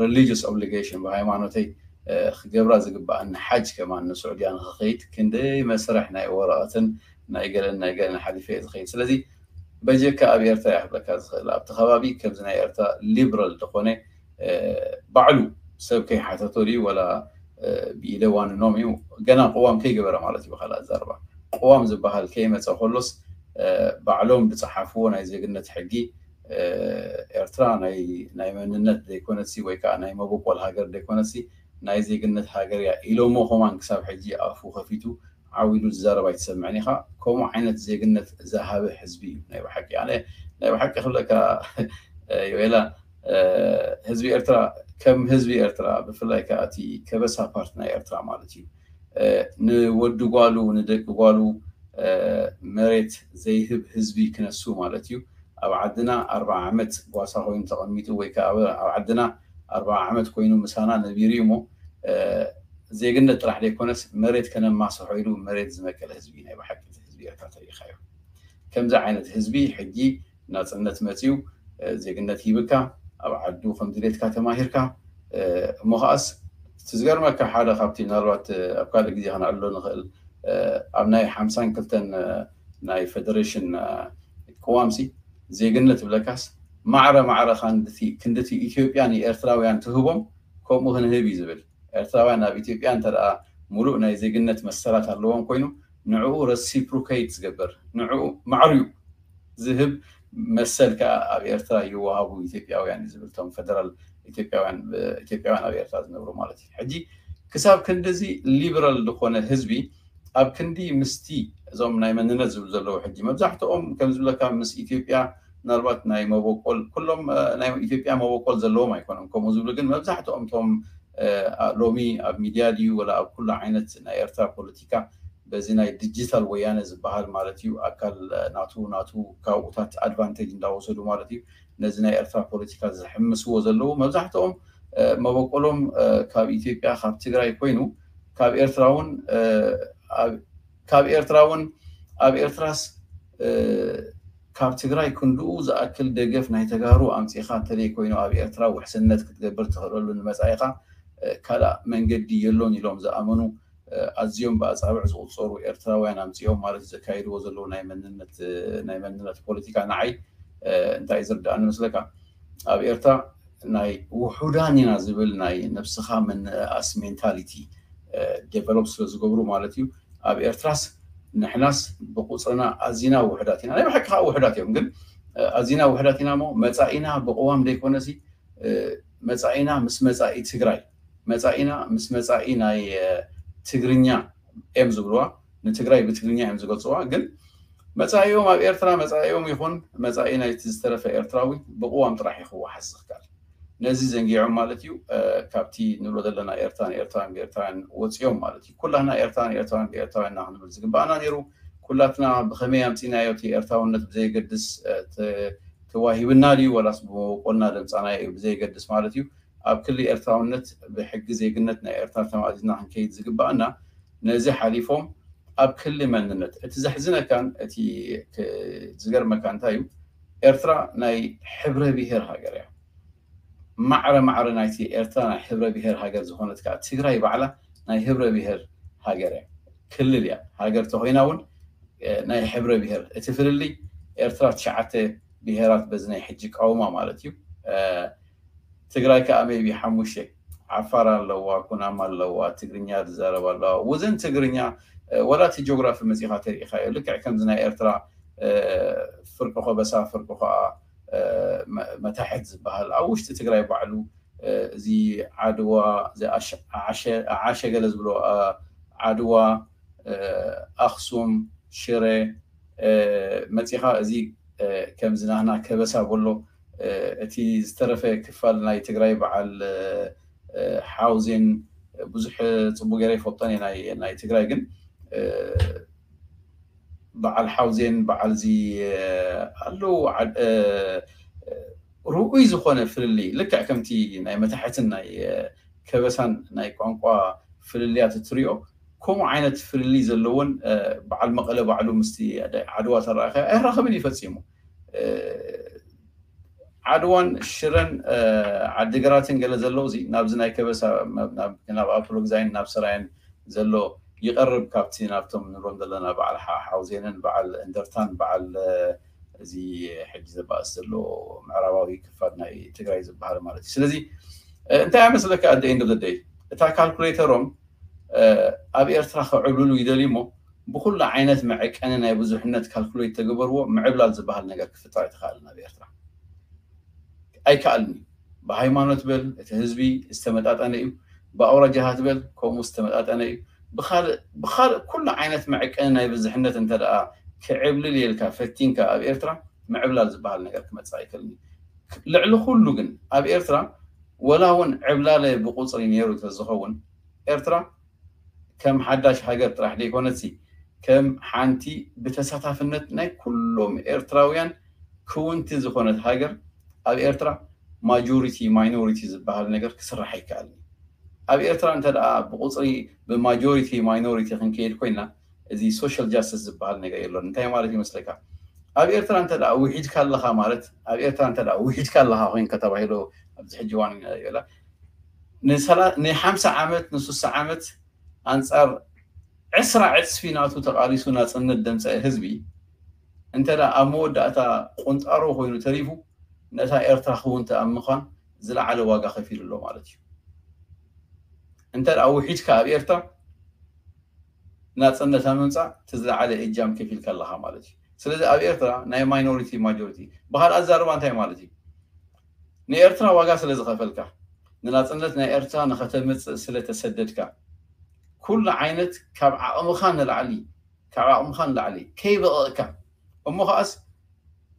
religious obligation ብሃይማኖተይ ክገብራ ዝግባኣኒ ሓጅ ከማን ንስዑድያ ንክኸይድ ክንደይ መስርሕ ናይ ወረቐትን ናይ ገለን ናይ ገለን ሓሊፈ እየ ዝኸይድ። ስለዚ በጀካ ኣብ ኤርትራ እያ ክብለካ ዝኽእል ኣብቲ ከባቢ ከምዚ ናይ ኤርትራ ሊበራል ዝኾነ ባዕሉ ሰብ ከይሓተቶ ድዩ ወላ ብኢደ ዋንኖም እዩ ገና ቅዋም ከይገበረ ማለት እዩ። ብካልእ ኣዛርባ ቅዋም ዝበሃል ከይመፀ ከሎስ ባዕሎም ዝፀሓፍዎ ናይ ዜግነት ሕጊ ኤርትራ ናይ መንነት ዘይኮነሲ ወይ ከዓ ናይ መበቆል ሃገር ዘይኮነሲ ናይ ዜግነት ሃገር እያ ኢሎሞ ከማን ክሳብ ሕጂ ኣፉ ከፊቱ ዓው ኢሉ ዝዛረብ ኣይትሰምዕን ኢኻ። ከምኡ ዓይነት ዜግነት ዝሃበ ህዝቢ እዩ ናይ ብሓቂ። ኣነ ናይ ብሓቂ ክብለካ ዮኤላ ህዝቢ ኤርትራ ከም ህዝቢ ኤርትራ ብፍላይ ከዓ እቲ ከበሳ ፓርት ናይ ኤርትራ ማለት እዩ ንወዲ ጓሉ ንደቂ ጓሉ መሬት ዘይህብ ህዝቢ ክነሱ ማለት እዩ። ኣብ ዓድና ኣርባዓ ዓመት ጓሳ ኮይኑ ተቐሚጡ ወይ ከዓ ኣብ ዓድና ኣርባዓ ዓመት ኮይኑ ምሳና ነቢሩ እዩ እሞ ዜግነት ጥራሕ ዘይኮነስ መሬት ከነማስሖ ኢሉ መሬት ዝመቀለ ህዝቢ ናይ ብሓቂ ህዝቢ ኤርትራ ተሪኢኻዮ። ከምዚ ዓይነት ህዝቢ ሕጂ ናፅነት መፅዩ ዜግነት ሂብካ ኣብ ዓዱ ከም ድሌትካ ተማሂርካ እሞ ከዓስ እቲ ዝገርመካ ሓደ ካብቲ ምናልባት ኣብ ካልእ ግዜ ከነዕልሎ ንኽእል ኣብ ናይ ሓምሳን ክልተን ናይ ፌደሬሽን ቅዋምሲ ዜግነት ብለካስ ማዕረ ማዕረ ክንድቲ ኢትዮጵያ ንኤርትራውያን ትህቦም ከምኡ ክንህብ እዩ ዝብል። ኤርትራውያን ኣብ ኢትዮጵያ እንተ ሙሉእ ናይ ዜግነት መሰላት ኣለዎም ኮይኑ ንዕኡ ረሲፕሮኬት ዝገብር ንዕኡ ማዕርዩ ዝህብ መሰል ከዓ ኣብ ኤርትራ ይወሃቡ ኢትዮጵያውያን እዩ ዝብል እቶም ፌደራል ኢትዮጵያውያን ኢትዮጵያውያን ኣብ ኤርትራ ዝነብሩ ማለት እዩ። ሕጂ ክሳብ ክንድዚ ሊበራል ዝኾነ ህዝቢ ኣብ ክንዲ ምስቲ እዞም ናይ መንነት ዝብሉ ዘለዉ ሕጂ መብዛሕትኦም ከም ዝብለካ ምስ ኢትዮጵያ ምናልባት ናይ መበቆል ኩሎም ናይ ኢትዮጵያ መበቆል ዘለዎም ኣይኮነም ከምኡ ዝብሉ ግን መብዛሕትኦም ቶም ሎሚ ኣብ ሚድያ ድዩ ወላ ኣብ ኩሉ ዓይነት ናይ ኤርትራ ፖለቲካ በዚ ናይ ዲጂታል ወያነ ዝበሃል ማለት እዩ ኣካል ናቱ ናቱ ካብኡታት ኣድቫንቴጅ እንዳወሰዱ ማለት እዩ ነዚ ናይ ኤርትራ ፖለቲካ ዝሕምስዎ ዘለዉ መብዛሕትኦም መበቆሎም ካብ ኢትዮጵያ ካብ ትግራይ ኮይኑ ካብ ኤርትራ እውን ካብ ኤርትራ እውን ኣብ ኤርትራስ ካብ ትግራይ ክንድኡ ዝኣክል ደገፍ ናይ ተጋሩ ኣምፂኻ እንተደይ ኮይኑ ኣብ ኤርትራ ውሕስነት ክትገብር ትኽእለሉ ንመፃኢኻ ካልእ መንገዲ የሎን ኢሎም ዝኣመኑ ኣዝዮም ብኣፃብዕ ዝቁፀሩ ኤርትራውያን ኣምፅኦም ማለት ዘካይድዎ ዘለዉ ናይ መንነት ናይ መንነት ፖለቲካ ንዓይ እንታይ ዝርዳእኒ መስለካ ኣብ ኤርትራ ናይ ውሑዳን ኢና ዝብል ናይ ነብስኻ ምንእኣስ ሜንታሊቲ ዴቨሎፕ ስለ ዝገብሩ ማለት እዩ ኣብ ኤርትራስ ንሕናስ ብቁፅርና ኣዚና ውሕዳት ኢና ናይ ብሓቂ ከዓ ውሕዳት እዮም ግን ኣዚና ውሕዳት ኢና ሞ መፃኢና ብቅዋም ዘይኮነሲ መፃኢና ምስ መፃኢ ትግራይ መፃኢና ምስ መፃኢ ናይ ትግርኛ እዮም ዝብልዋ ንትግራይ ብትግርኛ እዮም ዝገልፅዋ ግን መፃኢኦም ኣብ ኤርትራ መፃኢኦም ይኹን መፃኢ ናይቲ ዝተረፈ ኤርትራዊ ብቅዋም ጥራሕ እዩ ክወሓስ ዝኽካል ነዚ ዘንጊዖም ማለት እዩ ካብቲ ንብሎ ዘለና ኤርትራን ኤርትራን ብኤርትራውያን ወፂኦም ማለት እዩ ኩላትና ኤርትራን ኤርትራን ብኤርትራውያን ክንብል ዝግባኣና ነይሩ ኩላትና ብኸመይ ኣምፂናዮ እቲ ኤርትራውነት ብዘይገድስ ተዋሂብና ድዩ ወላስ ብመበቆልና ደምፃናዮ እዩ ብዘይገድስ ማለት እዩ ኣብ ክሊ ኤርትራውነት ብሕጊ ዜግነት ናይ ኤርትራ ተማእዚዝና ክንከይድ ዝግባኣና ነዚ ሓሊፎም ኣብ ክሊ መንነት እቲ ዘሕዝነካን እቲ ዝገርመካ እንታይ እዩ ኤርትራ ናይ ሕብረ ብሄር ሃገር እያ ማዕረ ማዕረ ናይቲ ኤርትራ ናይ ሕብረ ብሄር ሃገር ዝኾነት ከዓ ትግራይ ባዕላ ናይ ህብረ ብሄር ሃገር እያ ክልል እያ ሃገር ተኮይና እውን ናይ ሕብረ ብሄር እቲ ፍልልይ ኤርትራ ትሽዓተ ብሄራት በዚ ናይ ሕጂ ቃውማ ማለት እዩ ትግራይ ከዓ ሜቢ ሓሙሽተ ዓፋር ኣለዋ ኩናማ ኣለዋ ትግርኛ ዝዛረብ ኣለዋ ውዝን ትግርኛ ወላ እቲ ጂኦግራፊ መፂኻ ተሪኢኻዮ ልክዕ ከምዚ ናይ ኤርትራ ፍርቂ ኮበሳ ፍርቂ ከዓ መታሕት ዝበሃል ኣብ ውሽጢ ትግራይ ባዕሉ እዚ ዓድዋ ዓሸ ገለ ዝብሎ ዓድዋ ኣክሱም ሽረ መፂኻ እዚ ከምዚ ናህና ከበሳ በሎ እቲ ዝተረፈ ክፋል ናይ ትግራይ በዓል ሓውዜን ብዙሕ ፅቡቅ ገይረ ይፈልጦን ናይ ትግራይ ግን በዓል ሓውዜን በዓል እዚ ኣለዉ ርኡይ ዝኾነ ፍልልይ ልክዕ ከምቲ ናይ መታሕትን ናይ ከበሳን ናይ ቋንቋ ፍልልያት እትሪኦ ከምኡ ዓይነት ፍልልይ ዘለዎን በዓል መቐለ ባዕሉ ምስቲ ዓድዋ ተረኣኸ ኣይራኸብን እዩ ፈፂሙ ዓድዋን ሽረን ዓዲግራትን ገለ ዘለዉ እዚ ናብዚ ናይ ከበሳ ናብ ኣፕሎግዛይን ናብ ሰራየን ዘሎ ይቐርብ ካብቲ ናብቶም ንብሎም ዘለና በዓል ሓውዜንን በዓል እንደርታን በዓል እዚ ሕጂ ዘባእስ ዘሎ ምዕራባዊ ክፋል ናይ ትግራይ ዝበሃል ማለት እዩ ስለዚ እንታይ ኣይመስለካ ኣደ ኢንዶ ደይ እታ ካልኩሌተሮም ኣብ ኤርትራ ክዕብልሉ ይደልዩ እሞ ብኩሉ ዓይነት መዐቀኒ ናይ ብዙሕነት ካልኩሌት ተገበርዎ ምዕብላል ዝበሃል ነገር ክፍጠር ኣይተኻእልን ኣብ ኤርትራ ኣይከኣልን እዩ ብሃይማኖት በል እቲ ህዝቢ ዝተመጣጠነ እዩ ብኣውራጃታት በል ከምኡ ዝተመጣጠነ እዩ ብካልእ ኩሉ ዓይነት መዐቀኒ ናይ ብዝሕነት እንተ ክዕብልል የልካ ፈቲንካ ኣብ ኤርትራ ምዕብላል ዝበሃል ነገር ክመፅእ ኣይክእልን እዩ ልዕሊ ኩሉ ግን ኣብ ኤርትራ ወላ እውን ዕብላለ ብቁፅሪ ነይሩ ተዝኸውን ኤርትራ ከም ሓዳሽ ሃገር ጥራሕ ዘይኮነትሲ ከም ሓንቲ ብተሳታፍነት ናይ ኩሎም ኤርትራውያን ክውንቲ ዝኾነት ሃገር ኣብ ኤርትራ ማጆሪቲ ማይኖሪቲ ዝበሃል ነገር ክስራሕ ኣይከኣልን ኣብ ኤርትራ እንተ ብቁፅሪ ብማጆሪቲ ማይኖሪቲ ክንከይድ ኮይና እዚ ሶሻል ጃስቲስ ዝበሃል ነገር የሎን እንታይ ማለት ይመስለካ ኣብ ኤርትራ እንተ ውሒድካ ኣለኻ ማለት ኣብ ኤርትራ እንተ ውሒድካ ኣለኻ ኮይንካ ተባሂሉ ኣብዚ ሕጂ ዋን ይላ ንሓምሳ ዓመት ንሱሳ ዓመት ኣንፃር ዕስራ ዕፅፊ ናቱ ተቃሊሱ ናፅነት ደምፀ ህዝቢ እንተ ኣብ መወዳእታ ቁንጣሮ ኮይኑ ተሪፉ ነታ ኤርትራ ክውንተ ኣብ ምዃን ዝለዓለ ዋጋ ከፊሉ ኣሎ ማለት እዩ እንተ ውሒድካ ኣብ ኤርትራ ናፅነት ኣብ ምምፃእ እቲ ዝለዓለ እጃም ከፊልካ ኣለካ ማለት እዩ ስለዚ ኣብ ኤርትራ ናይ ማይኖሪቲ ማጆሪቲ ብካልእ ኣዛርባ እንታይ ማለት እዩ ንኤርትራ ዋጋ ስለ ዝኸፈልካ ንናፅነት ናይ ኤርትራ ንኸተምፅእ ስለ ተሰደድካ ኩሉ ዓይነት ካብ ዓቕምኻ ንላዕሊ ካብ ዓቕምኻ ንላዕሊ ከይበቐቕካ እሞ ከዓስ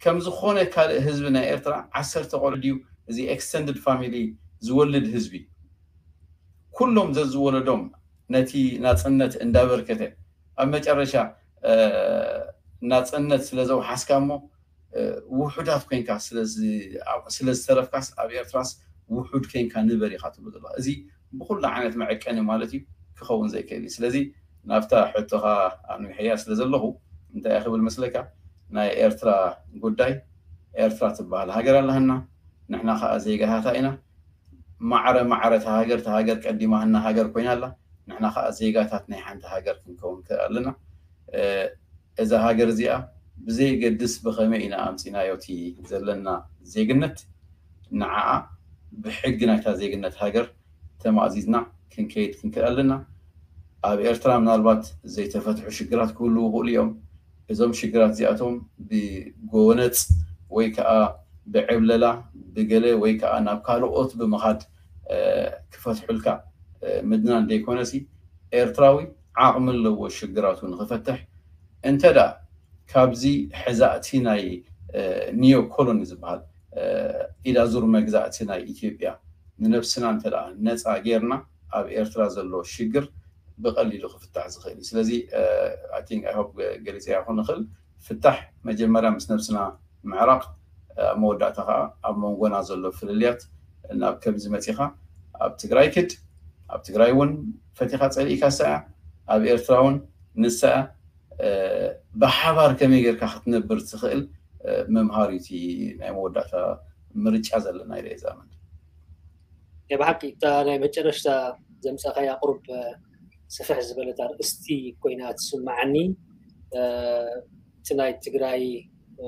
ከም ዝኾነ ካልእ ህዝቢ ናይ ኤርትራ ዓሰርተ ቆልዑ ድዩ እዚ extended family ዝወልድ ህዝቢ? ኩሎም ዘዝወለዶም ነቲ ናጽነት እንዳበርከተ ኣብ መጨረሻ ናጽነት ስለ ዘውሓስካ እሞ ውሑዳት ኮንካ ስለ ዝተረፍካስ ኣብ ኤርትራስ ውሑድ ኮንካ ንበር ኢኻ ትብሉ ዘለኻ። እዚ ብኩሉ ዓይነት መዐቀኒ ማለት እዩ ክኸውን ዘይክእል እዩ። ስለዚ ናብታ ሕቶኻ ኣንዊሐያ ስለ ዘለኹ እንታይ ክብል መስለካ፣ ናይ ኤርትራ ጉዳይ፣ ኤርትራ ትበሃል ሃገር ኣለሃና፣ ንሕና ከዓ ዜጋታታ ኢና። ማዕረ ማዕረ እታ ሃገር እታ ሃገር ቀዲማሃና ሃገር ኮይና ኣላ። ንሕና ከዓ ዜጋታት ናይ ሓንቲ ሃገር ክንከውን ንክእል ኣለና። እዛ ሃገር እዚኣ ብዘየገድስ ብኸመይ ኢና ኣምፂናዮ እቲ ዘለና ዜግነት፣ ንዓኣ ብሕጊ ናይታ ዜግነት ሃገር ተማእዚዝና ክንከይድ ክንክእል ኣለና። ኣብ ኤርትራ ምናልባት ዘይተፈትሑ ሽግራት ክህልዉ ይኽእሉ እዮም። እዞም ሽግራት እዚኣቶም ብጎነፅ ወይ ከዓ ብዕብለላ ብገለ ወይ ከዓ ናብ ካልኦት ብምኻድ ክፈትሑልካ ምድናን ዘይኮነሲ፣ ኤርትራዊ ዓቕሚ ኣለዎ ሽግራቱ ንኽፈትሕ። እንተ ደኣ ካብዚ ሕዛእቲ ናይ ኒዮ ኮሎኒ ዝበሃል ኢዳዙር መግዛእቲ ናይ ኢትዮጵያ ንነብስና እንተ ደኣ ነፃ ጌርና፣ ኣብ ኤርትራ ዘሎ ሽግር ብቐሊሉ ክፍታሕ ዝኽእል እዩ። ስለዚ I think I hope ገሊፀ ይኹን ንኽእል ፍታሕ መጀመርያ ምስ ነብስና ምዕራቕ፣ ኣብ መወዳእታ ከዓ ኣብ መንጎና ዘሎ ፍልልያት ናብ ከምዚ መፂኻ ኣብ ትግራይ ክድ ኣብ ትግራይ እውን ፈቲኻ ፀሊእካ ሰያ ኣብ ኤርትራ እውን ንሰያ ብሓባር ከመይ ጌርካ ክትነብር ትኽእል ምምሃር እዩ እቲ ናይ መወዳእታ ምርጫ ዘለና ኢለ እዛምን። ብሓቂ እታ ናይ መጨረሽታ ዘምፀኻያ ቁሩብ ስፍሕ ዝበለት ኣርእስቲ ኮይና ትስማዓኒ። እቲ ናይ ትግራይ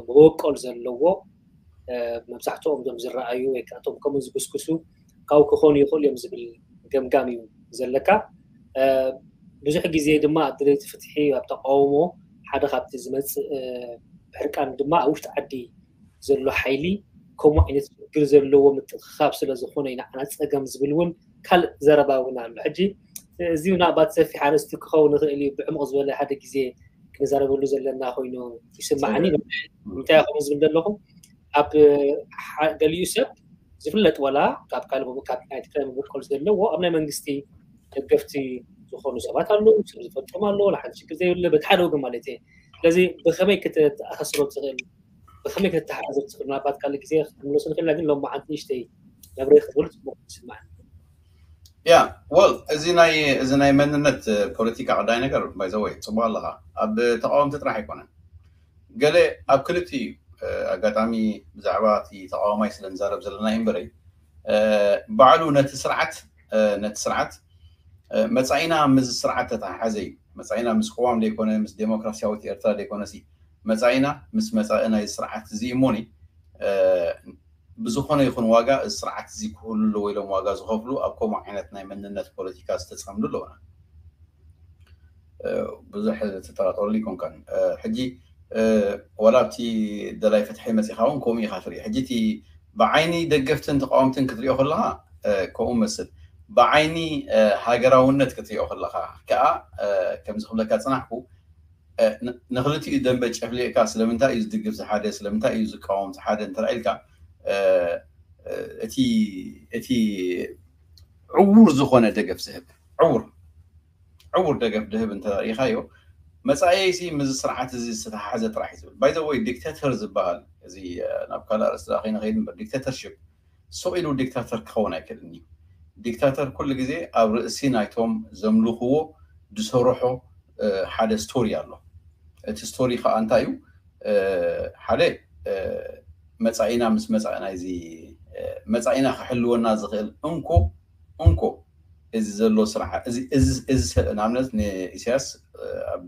መበቆል ዘለዎ መብዛሕትኦም ዞም ዝረኣዩ ወይ ከዓ እቶም ከምኡ ዝጉስጉሱ ካብኡ ክኾኑ ይኽእሉ እዮም ዝብል ገምጋም እዩ ዘለካ። ብዙሕ ግዜ ድማ ኣብ ደለይቲ ፍትሒ ኣብ ተቃውሞ ሓደ ካብቲ ዝመፅእ ብሕርቃን ድማ ኣብ ውሽጢ ዓዲ ዘሎ ሓይሊ ከምኡ ዓይነት ችግር ዘለዎ ምትእኽኻብ ስለ ዝኾነ ኢና ጸገም ዝብል እውን ካልእ ዘረባ እውን ኣሎ። ሕጂ እዚ ምናልባት ሰፊሕ ኣርእስቲ ክኸውን ይኽእል እዩ፣ ብዕሙቕ ዝበለ ሓደ ግዜ ክንዛረበሉ ዘለና ኮይኑ ይስማዓኒ። እንታይ ይኸውን ዝብል ዘለኹ ኣብ ገሊኡ ሰብ ዝፍለጥ ዋላ ካብ ካልእ ካብ ናይ ትግራይ መበቆል ዘለዎ ኣብ ናይ መንግስቲ ደገፍቲ ዝኾኑ ሰባት ኣለዉ፣ ሰብ ዝፈልጦም ኣለዉ፣ ንሓንቲ ሽግር ዘይብለ በቲ ሓደ ወገን ማለት እየ። ስለዚ ብኸመይ ክትተኣሳስሮ ትኽእል፣ ብኸመይ ክትተሓሓዞ ትኽእል? ምናልባት ካልእ ግዜ ክትምለሱ ንኽእልና፣ ግን ሎማዓንቲ ንእሽተይ ነብረ ክብል ጽቡቕ ይስምዓኒ። ያ ወል እዚ ናይ እዚ ናይ መንነት ፖለቲካ ቀዳይ ነገር ባይዘወይ ጽቡቕ ኣለኻ። ኣብ ተቃወምቲ ጥራሕ ኣይኮነን፣ ገለ ኣብ ክልቲኡ ኣጋጣሚ ብዛዕባ እቲ ተቃዋማይ ስለ ንዛረብ ዘለና እዩ እምበረይ ባዕሉ ነቲ ስርዓት ነቲ ስርዓት መጻኢና ምስ ስርዓት ተተሓሓዘ እዩ። መጻኢና ምስ ቅዋም ዘይኮነ ምስ ዴሞክራሲያዊት ኤርትራ ዘይኮነሲ መጻኢና ምስ መጻኢ ናይ ስርዓት እዚ እሞኒ ብዝኾነ ይኹን ዋጋ እዚ ስርዓት እዚ ክህሉ ኣለዎ ኢሎም ዋጋ ዝኸፍሉ ኣብ ከምኡ ዓይነት ናይ መንነት ፖለቲካ ዝተጸምዱ ኣለውና። ብዙሕ ትጠራጠረሉ ይኮንካን። ሕጂ ወላ ኣብቲ ደላይ ፍትሒ መፂኻ እውን ከምኡ ኢኻ ትርኢ። ሕጂ እቲ ብዓይኒ ደገፍትን ተቃወምትን ክትሪኦ ከለኻ ከምኡ መስል፣ ብዓይኒ ሃገራውነት ክትሪኦ ከለኻ ከዓ ከምዚ ክብለካ ፅናሕኩ ንክልቲኡ ደንበ ጨፍሊቕካ ስለምንታይ እዩ ዝድግፍ ዝሓደ ስለምንታይ እዩ ዝቃወም ዝሓደ እንተረኢልካ እቲ እቲ ዕውር ዝኾነ ደገፍ ዝህብ ዕውር ዕውር ደገፍ ድህብ እንተሪኢኻዮ መፃኢሲ ምዚ ስርዓት እዚ ዝተተሓዘ ጥራሕ እዩ ዝብል። ባይዘወይ ዲክተተር ዝበሃል እዚ ናብ ካልእ ኣርእስቲ ከይንኸይድ እምበር ዲክተተርሽፕ ሱቕ ኢሉ ዲክታተር ክኸውን ኣይክእልን እዩ። ዲክታተር ኩሉ ግዜ ኣብ ርእሲ ናይቶም ዘምልኽዎ ዝሰርሖ ሓደ ስቶሪ ኣሎ። እቲ ስቶሪ ከዓ እንታይ እዩ? ሓደ መፃኢና ምስ መፃኢ ናይዚ መፃኢና ክሕልወና ዝኽእል እንኮ እንኮ እዚ ዘሎ ስርዓት እዚ እዚ እዚ ንኣብነት ንኢሳያስ ኣብ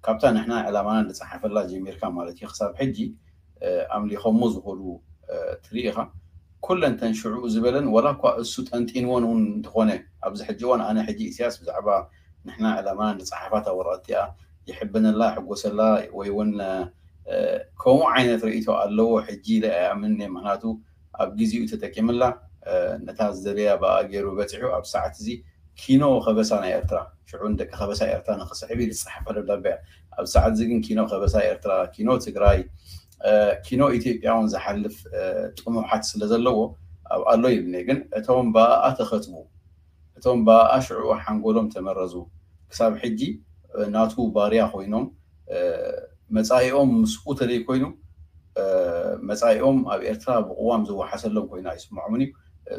ካብታ ንሕና ዕላማና ንፀሓፈላ ጀሚርካ ማለት እዩ ክሳብ ሕጂ ኣምሊኾሞ ዝኸዱ ትርኢ ኢኻ። ኩለን ተን ሽዑ ዝበለን ዋላ እኳ እሱ ጠንጢንወን እውን እንተኾነ ኣብዚ ሕጂ እዋን ኣነ ሕጂ ኢሳያስ ብዛዕባ ንሕና ዕላማና ንፀሓፋታ ወረቐት እቲኣ ይሕበነላ ይሕጎሰላ ወይ እውን ከምኡ ዓይነት ርእይቶ ኣለዎ ሕጂ ኢለ ኣይኣምንን እየ። ምክንያቱ ኣብ ግዜኡ ተጠቂምላ ነታ ዝደለያ ብኣ ገይሩ በፂሑ ኣብ ሰዓት እዚ ኪኖ ከበሳ ናይ ኤርትራ ሽዑ ንደቂ ከበሳ ኤርትራ ንክስዕብ ኢሉ ዝፀሓፈ ደብዳቤ እያ። ኣብ ሰዓት እዚ ግን ኪኖ ከበሳ ኤርትራ፣ ኪኖ ትግራይ፣ ኪኖ ኢትዮጵያ እውን ዝሓልፍ ጥሙሓት ስለ ዘለዎ ኣብ ኣሎ ይብልኒ። ግን እቶም ብኣኣ ተኸትቡ፣ እቶም ብኣኣ ሽዑ ሓንጎሎም ተመረዙ፣ ክሳብ ሕጂ ናቱ ባርያ ኮይኖም፣ መፃኢኦም ምስኡ ተዘይኮይኑ፣ መፃኢኦም ኣብ ኤርትራ ብቅዋም ዝወሓሰሎም ኮይኑ ኣይስምዖምን እዩ።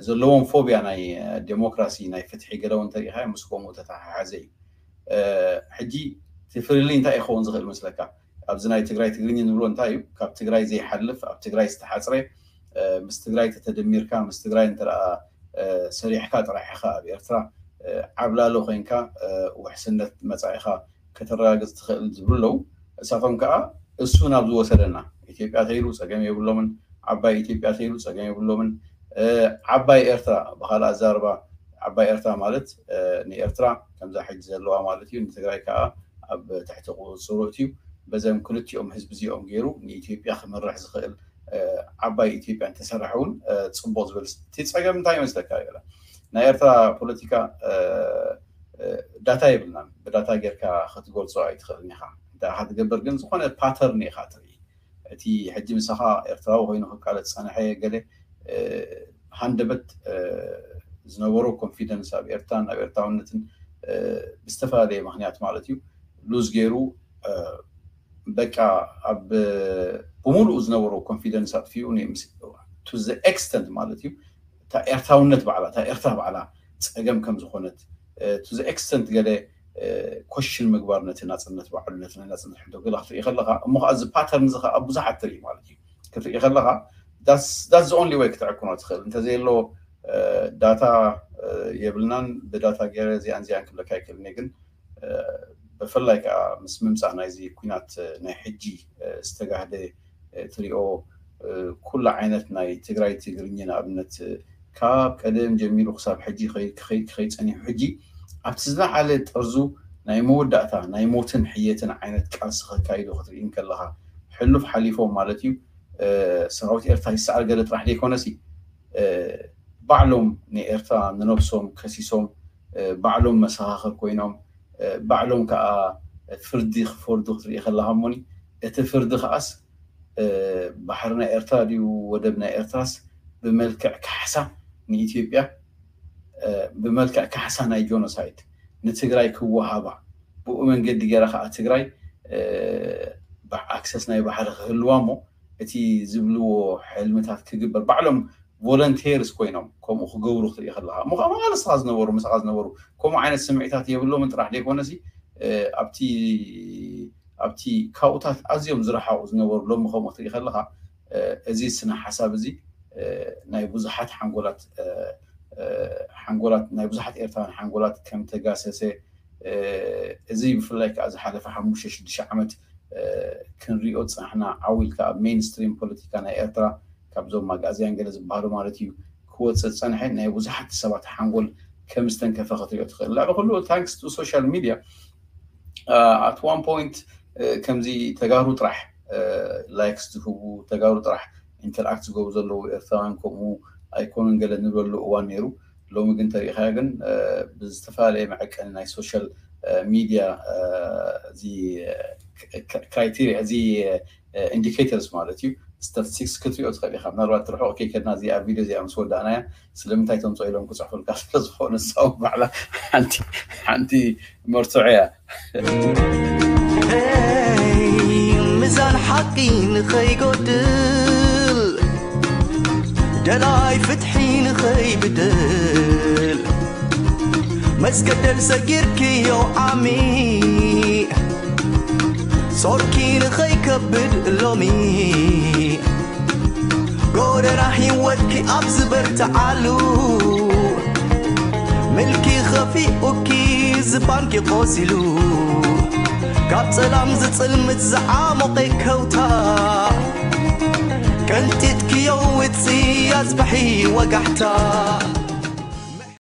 ዘለዎም ፎብያ ናይ ዴሞክራሲ፣ ናይ ፍትሒ ገለ እውን እንተሪኢኻ ምስ ከምኡ ተተሓሓዘ እዩ። ሕጂ እቲ ፍልልይ እንታይ ይኸውን ዝኽእል መስለካ? ኣብዚ ናይ ትግራይ ትግርኛ ንብሎ እንታይ እዩ? ካብ ትግራይ ዘይሓልፍ፣ ኣብ ትግራይ ዝተሓፅረ፣ ምስ ትግራይ ተተደሚርካ፣ ምስ ትግራይ እንተ ሰሪሕካ ጥራሕ ኢኻ ኣብ ኤርትራ ዓብላሎ ኮይንካ ውሕስነት መፃኢኻ ከተረጋግፅ ትኽእል ዝብሉ ኣለዉ። እሳቶም ከዓ እሱ ናብ ዝወሰደና፣ ኢትዮጵያ ተይሉ ፀገም የብሎምን፣ ዓባይ ኢትዮጵያ ተይሉ ፀገም የብሎምን። ዓባይ ኤርትራ ብካልእ ኣዛርባ ዓባይ ኤርትራ ማለት ንኤርትራ ከምዛ ሕጂ ዘለዋ ማለት እዩ። ንትግራይ ከዓ ኣብ ትሕቲ ቁፅፅሩ እትዩ። በዘም ክልቲኦም ህዝቢ እዚኦም ገይሩ ንኢትዮጵያ ክመርሕ ዝኽእል ዓባይ ኢትዮጵያ እንተሰራሕ እውን ፅቡቅ ዝብል። እቲ ፀገም እንታይ ይመስለካ? ናይ ኤርትራ ፖለቲካ ዳታ የብልናን። ብዳታ ጌርካ ክትገልፆ ኣይትኽእልን ኢኻ። እንታይ ኢኻ ትገብር ግን ዝኾነ ፓተርን ኢኻ ትርኢ። እቲ ሕጂ ምሳኻ ኤርትራዊ ኮይኑ ክቃለስ ዝፀንሐ ገለ ሃንደበት ዝነበሮ ኮንፊደንስ ኣብ ኤርትራን ኣብ ኤርትራውነትን ብዝተፈላለየ ምክንያት ማለት እዩ ሉዝ ገይሩ በቃ ኣብ ብምሉኡ ዝነበሮ ኮንፊደንስ ኣጥፊኡ to the extent ማለት እዩ እታ ኤርትራውነት ባዕላ እታ ኤርትራ ባዕላ ፀገም ከም ዝኾነት to the extent ገለ ኮሽን ምግባር ነቲ ናፅነት ባዕሉ ነቲ ናይ ናፅነት ሕቶ ገለ ክትርኢ ከለካ እሞ ከዓ እዚ ፓተርን እዚ ከዓ ብዙሓት ትርኢ ማለት እዩ ክትርኢ ከለካ that's the only way ክትዕቅኖ ትኽእል እንተዘየሎ ዳታ የብልናን ብዳታ ገይረ እዚኣን እዚኣን ክብለካ ይክእልኒ ግን ብፍላይ ከዓ ምስ ምምፃእ ናይዚ ኩናት ናይ ሕጂ ዝተጋህደ ትሪኦ ኩሉ ዓይነት ናይ ትግራይ ትግርኛ ንኣብነት ካብ ቀደም ጀሚሩ ክሳብ ሕጂ ክኸይድ ክኸይድ ክኸይድ ፀኒሑ ሕጂ ኣብቲ ዝለዓለ ጥርዙ ናይ መወዳእታ ናይ ሞትን ሕየትን ዓይነት ቃልሲ ከካይዱ ክትርኢ እንከለኻ ሕሉፍ ሓሊፎም ማለት እዩ ሰራዊት ኤርትራ ይሰዓር ገለ ጥራሕ ዘይኮነሲ ባዕሎም ንኤርትራ ንነብሶም ከሲሶም ባዕሎም መሰኻኽር ኮይኖም ባዕሎም ከዓ ፍርዲ ክፈርዱ ክትርኢ ከለካ እሞኒ እቲ ፍርዲ ከዓስ ባሕሪ ናይ ኤርትራ ድዩ ወደብ ናይ ኤርትራስ ብመልክዕ ካሕሳ ንኢትዮጵያ ብመልክዕ ካሕሳ ናይ ጆኖሳይድ ንትግራይ ክወሃባ ብኡ መንገዲ ገይራ ከዓ ትግራይ ኣክሰስ ናይ ባሕሪ ክህልዋ እሞ እቲ ዝብልዎ ሕልምታት ክግበር ባዕሎም ቮለንቴርስ ኮይኖም ከምኡ ክገብሩ ክትርኢ ከለካ እሞ ከዓ መቃለስኻ ዝነበሩ ምሳኻ ዝነበሩ ከምኡ ዓይነት ስምዒታት የብሎምን ጥራሕ ዘይኮነሲ ኣብቲ ኣብቲ ካብኡታት ኣዝዮም ዝረሓቑ ዝነበሩ ሎሚ ከምኡ ክትርኢ ከለካ እዚ ስነ ሓሳብ እዚ ናይ ብዙሓት ሓንጎላት ሓንጎላት ናይ ብዙሓት ኤርትራውያን ሓንጎላት ከም ተጋሰሰ እዚ ብፍላይ ከዓ ዝሓለፈ ሓሙሽተ ሽዱሽተ ዓመት ክንሪኦ ዝፀናሕና ዓው ኢልካ ኣብ ሜንስትሪም ፖለቲካ ናይ ኤርትራ ካብዞም ኣግኣዝያን ገለ ዝበሃሉ ማለት እዩ ክወፅእ ዝፀንሐ ናይ ብዙሓት ሰባት ሓንጎል ከም ዝተንከፈ ክትሪኦ ትኽእል ልዕሊ ኩሉ ታንክስ ቱ ሶሻል ሚድያ at one point ከምዚ ተጋሩ ጥራሕ ላይክስ ዝህቡ ተጋሩ ጥራሕ ኢንተርኣክት ዝገብሩ ዘለዉ ኤርትራውያን ከምኡ ኣይኮኑን ገለ ንብለሉ እዋን ነይሩ ሎሚ ግን ተሪኢኻዮ ግን ብዝተፈላለየ መዐቀኒ ናይ ሶሻል ሚድያ እዚ ክራይቴሪያ እዚ ኢንዲኬተርስ ማለት እዩ ስታቲስቲክስ ክትሪኦ ትኽእል ኢኻ ምናልባት ርሑቕ ከይከድና እዚኣ ቪድዮ እዚኣ ምስ ወዳእናያ ስለምንታይ ተምፅኦ ኢሎም ክፅሕፉልካ ስለ ዝኾኑ ንሳው ባዕላ ሓንቲ ሓንቲ መርትዖ እያ ሚዛን ሓቂ ንኸይጎድል ደላይ ፍትሒ ንኸይብድል መስገደል ሰጊርክዮ ዓሚ ጾርኪ ንኸይከብድ ሎሚ ጎደና ህይወትኪ ኣብ ዝበርትዓሉ ምልኪ ኸፊኡኪ ዝባንኪ ቆሲሉ ካብ ጸላም ዝጽልምት ዝዓሞቐ ከውታ ቀንጢጥክዮ ውጽእ ኣጽብሒ ወጋሕታ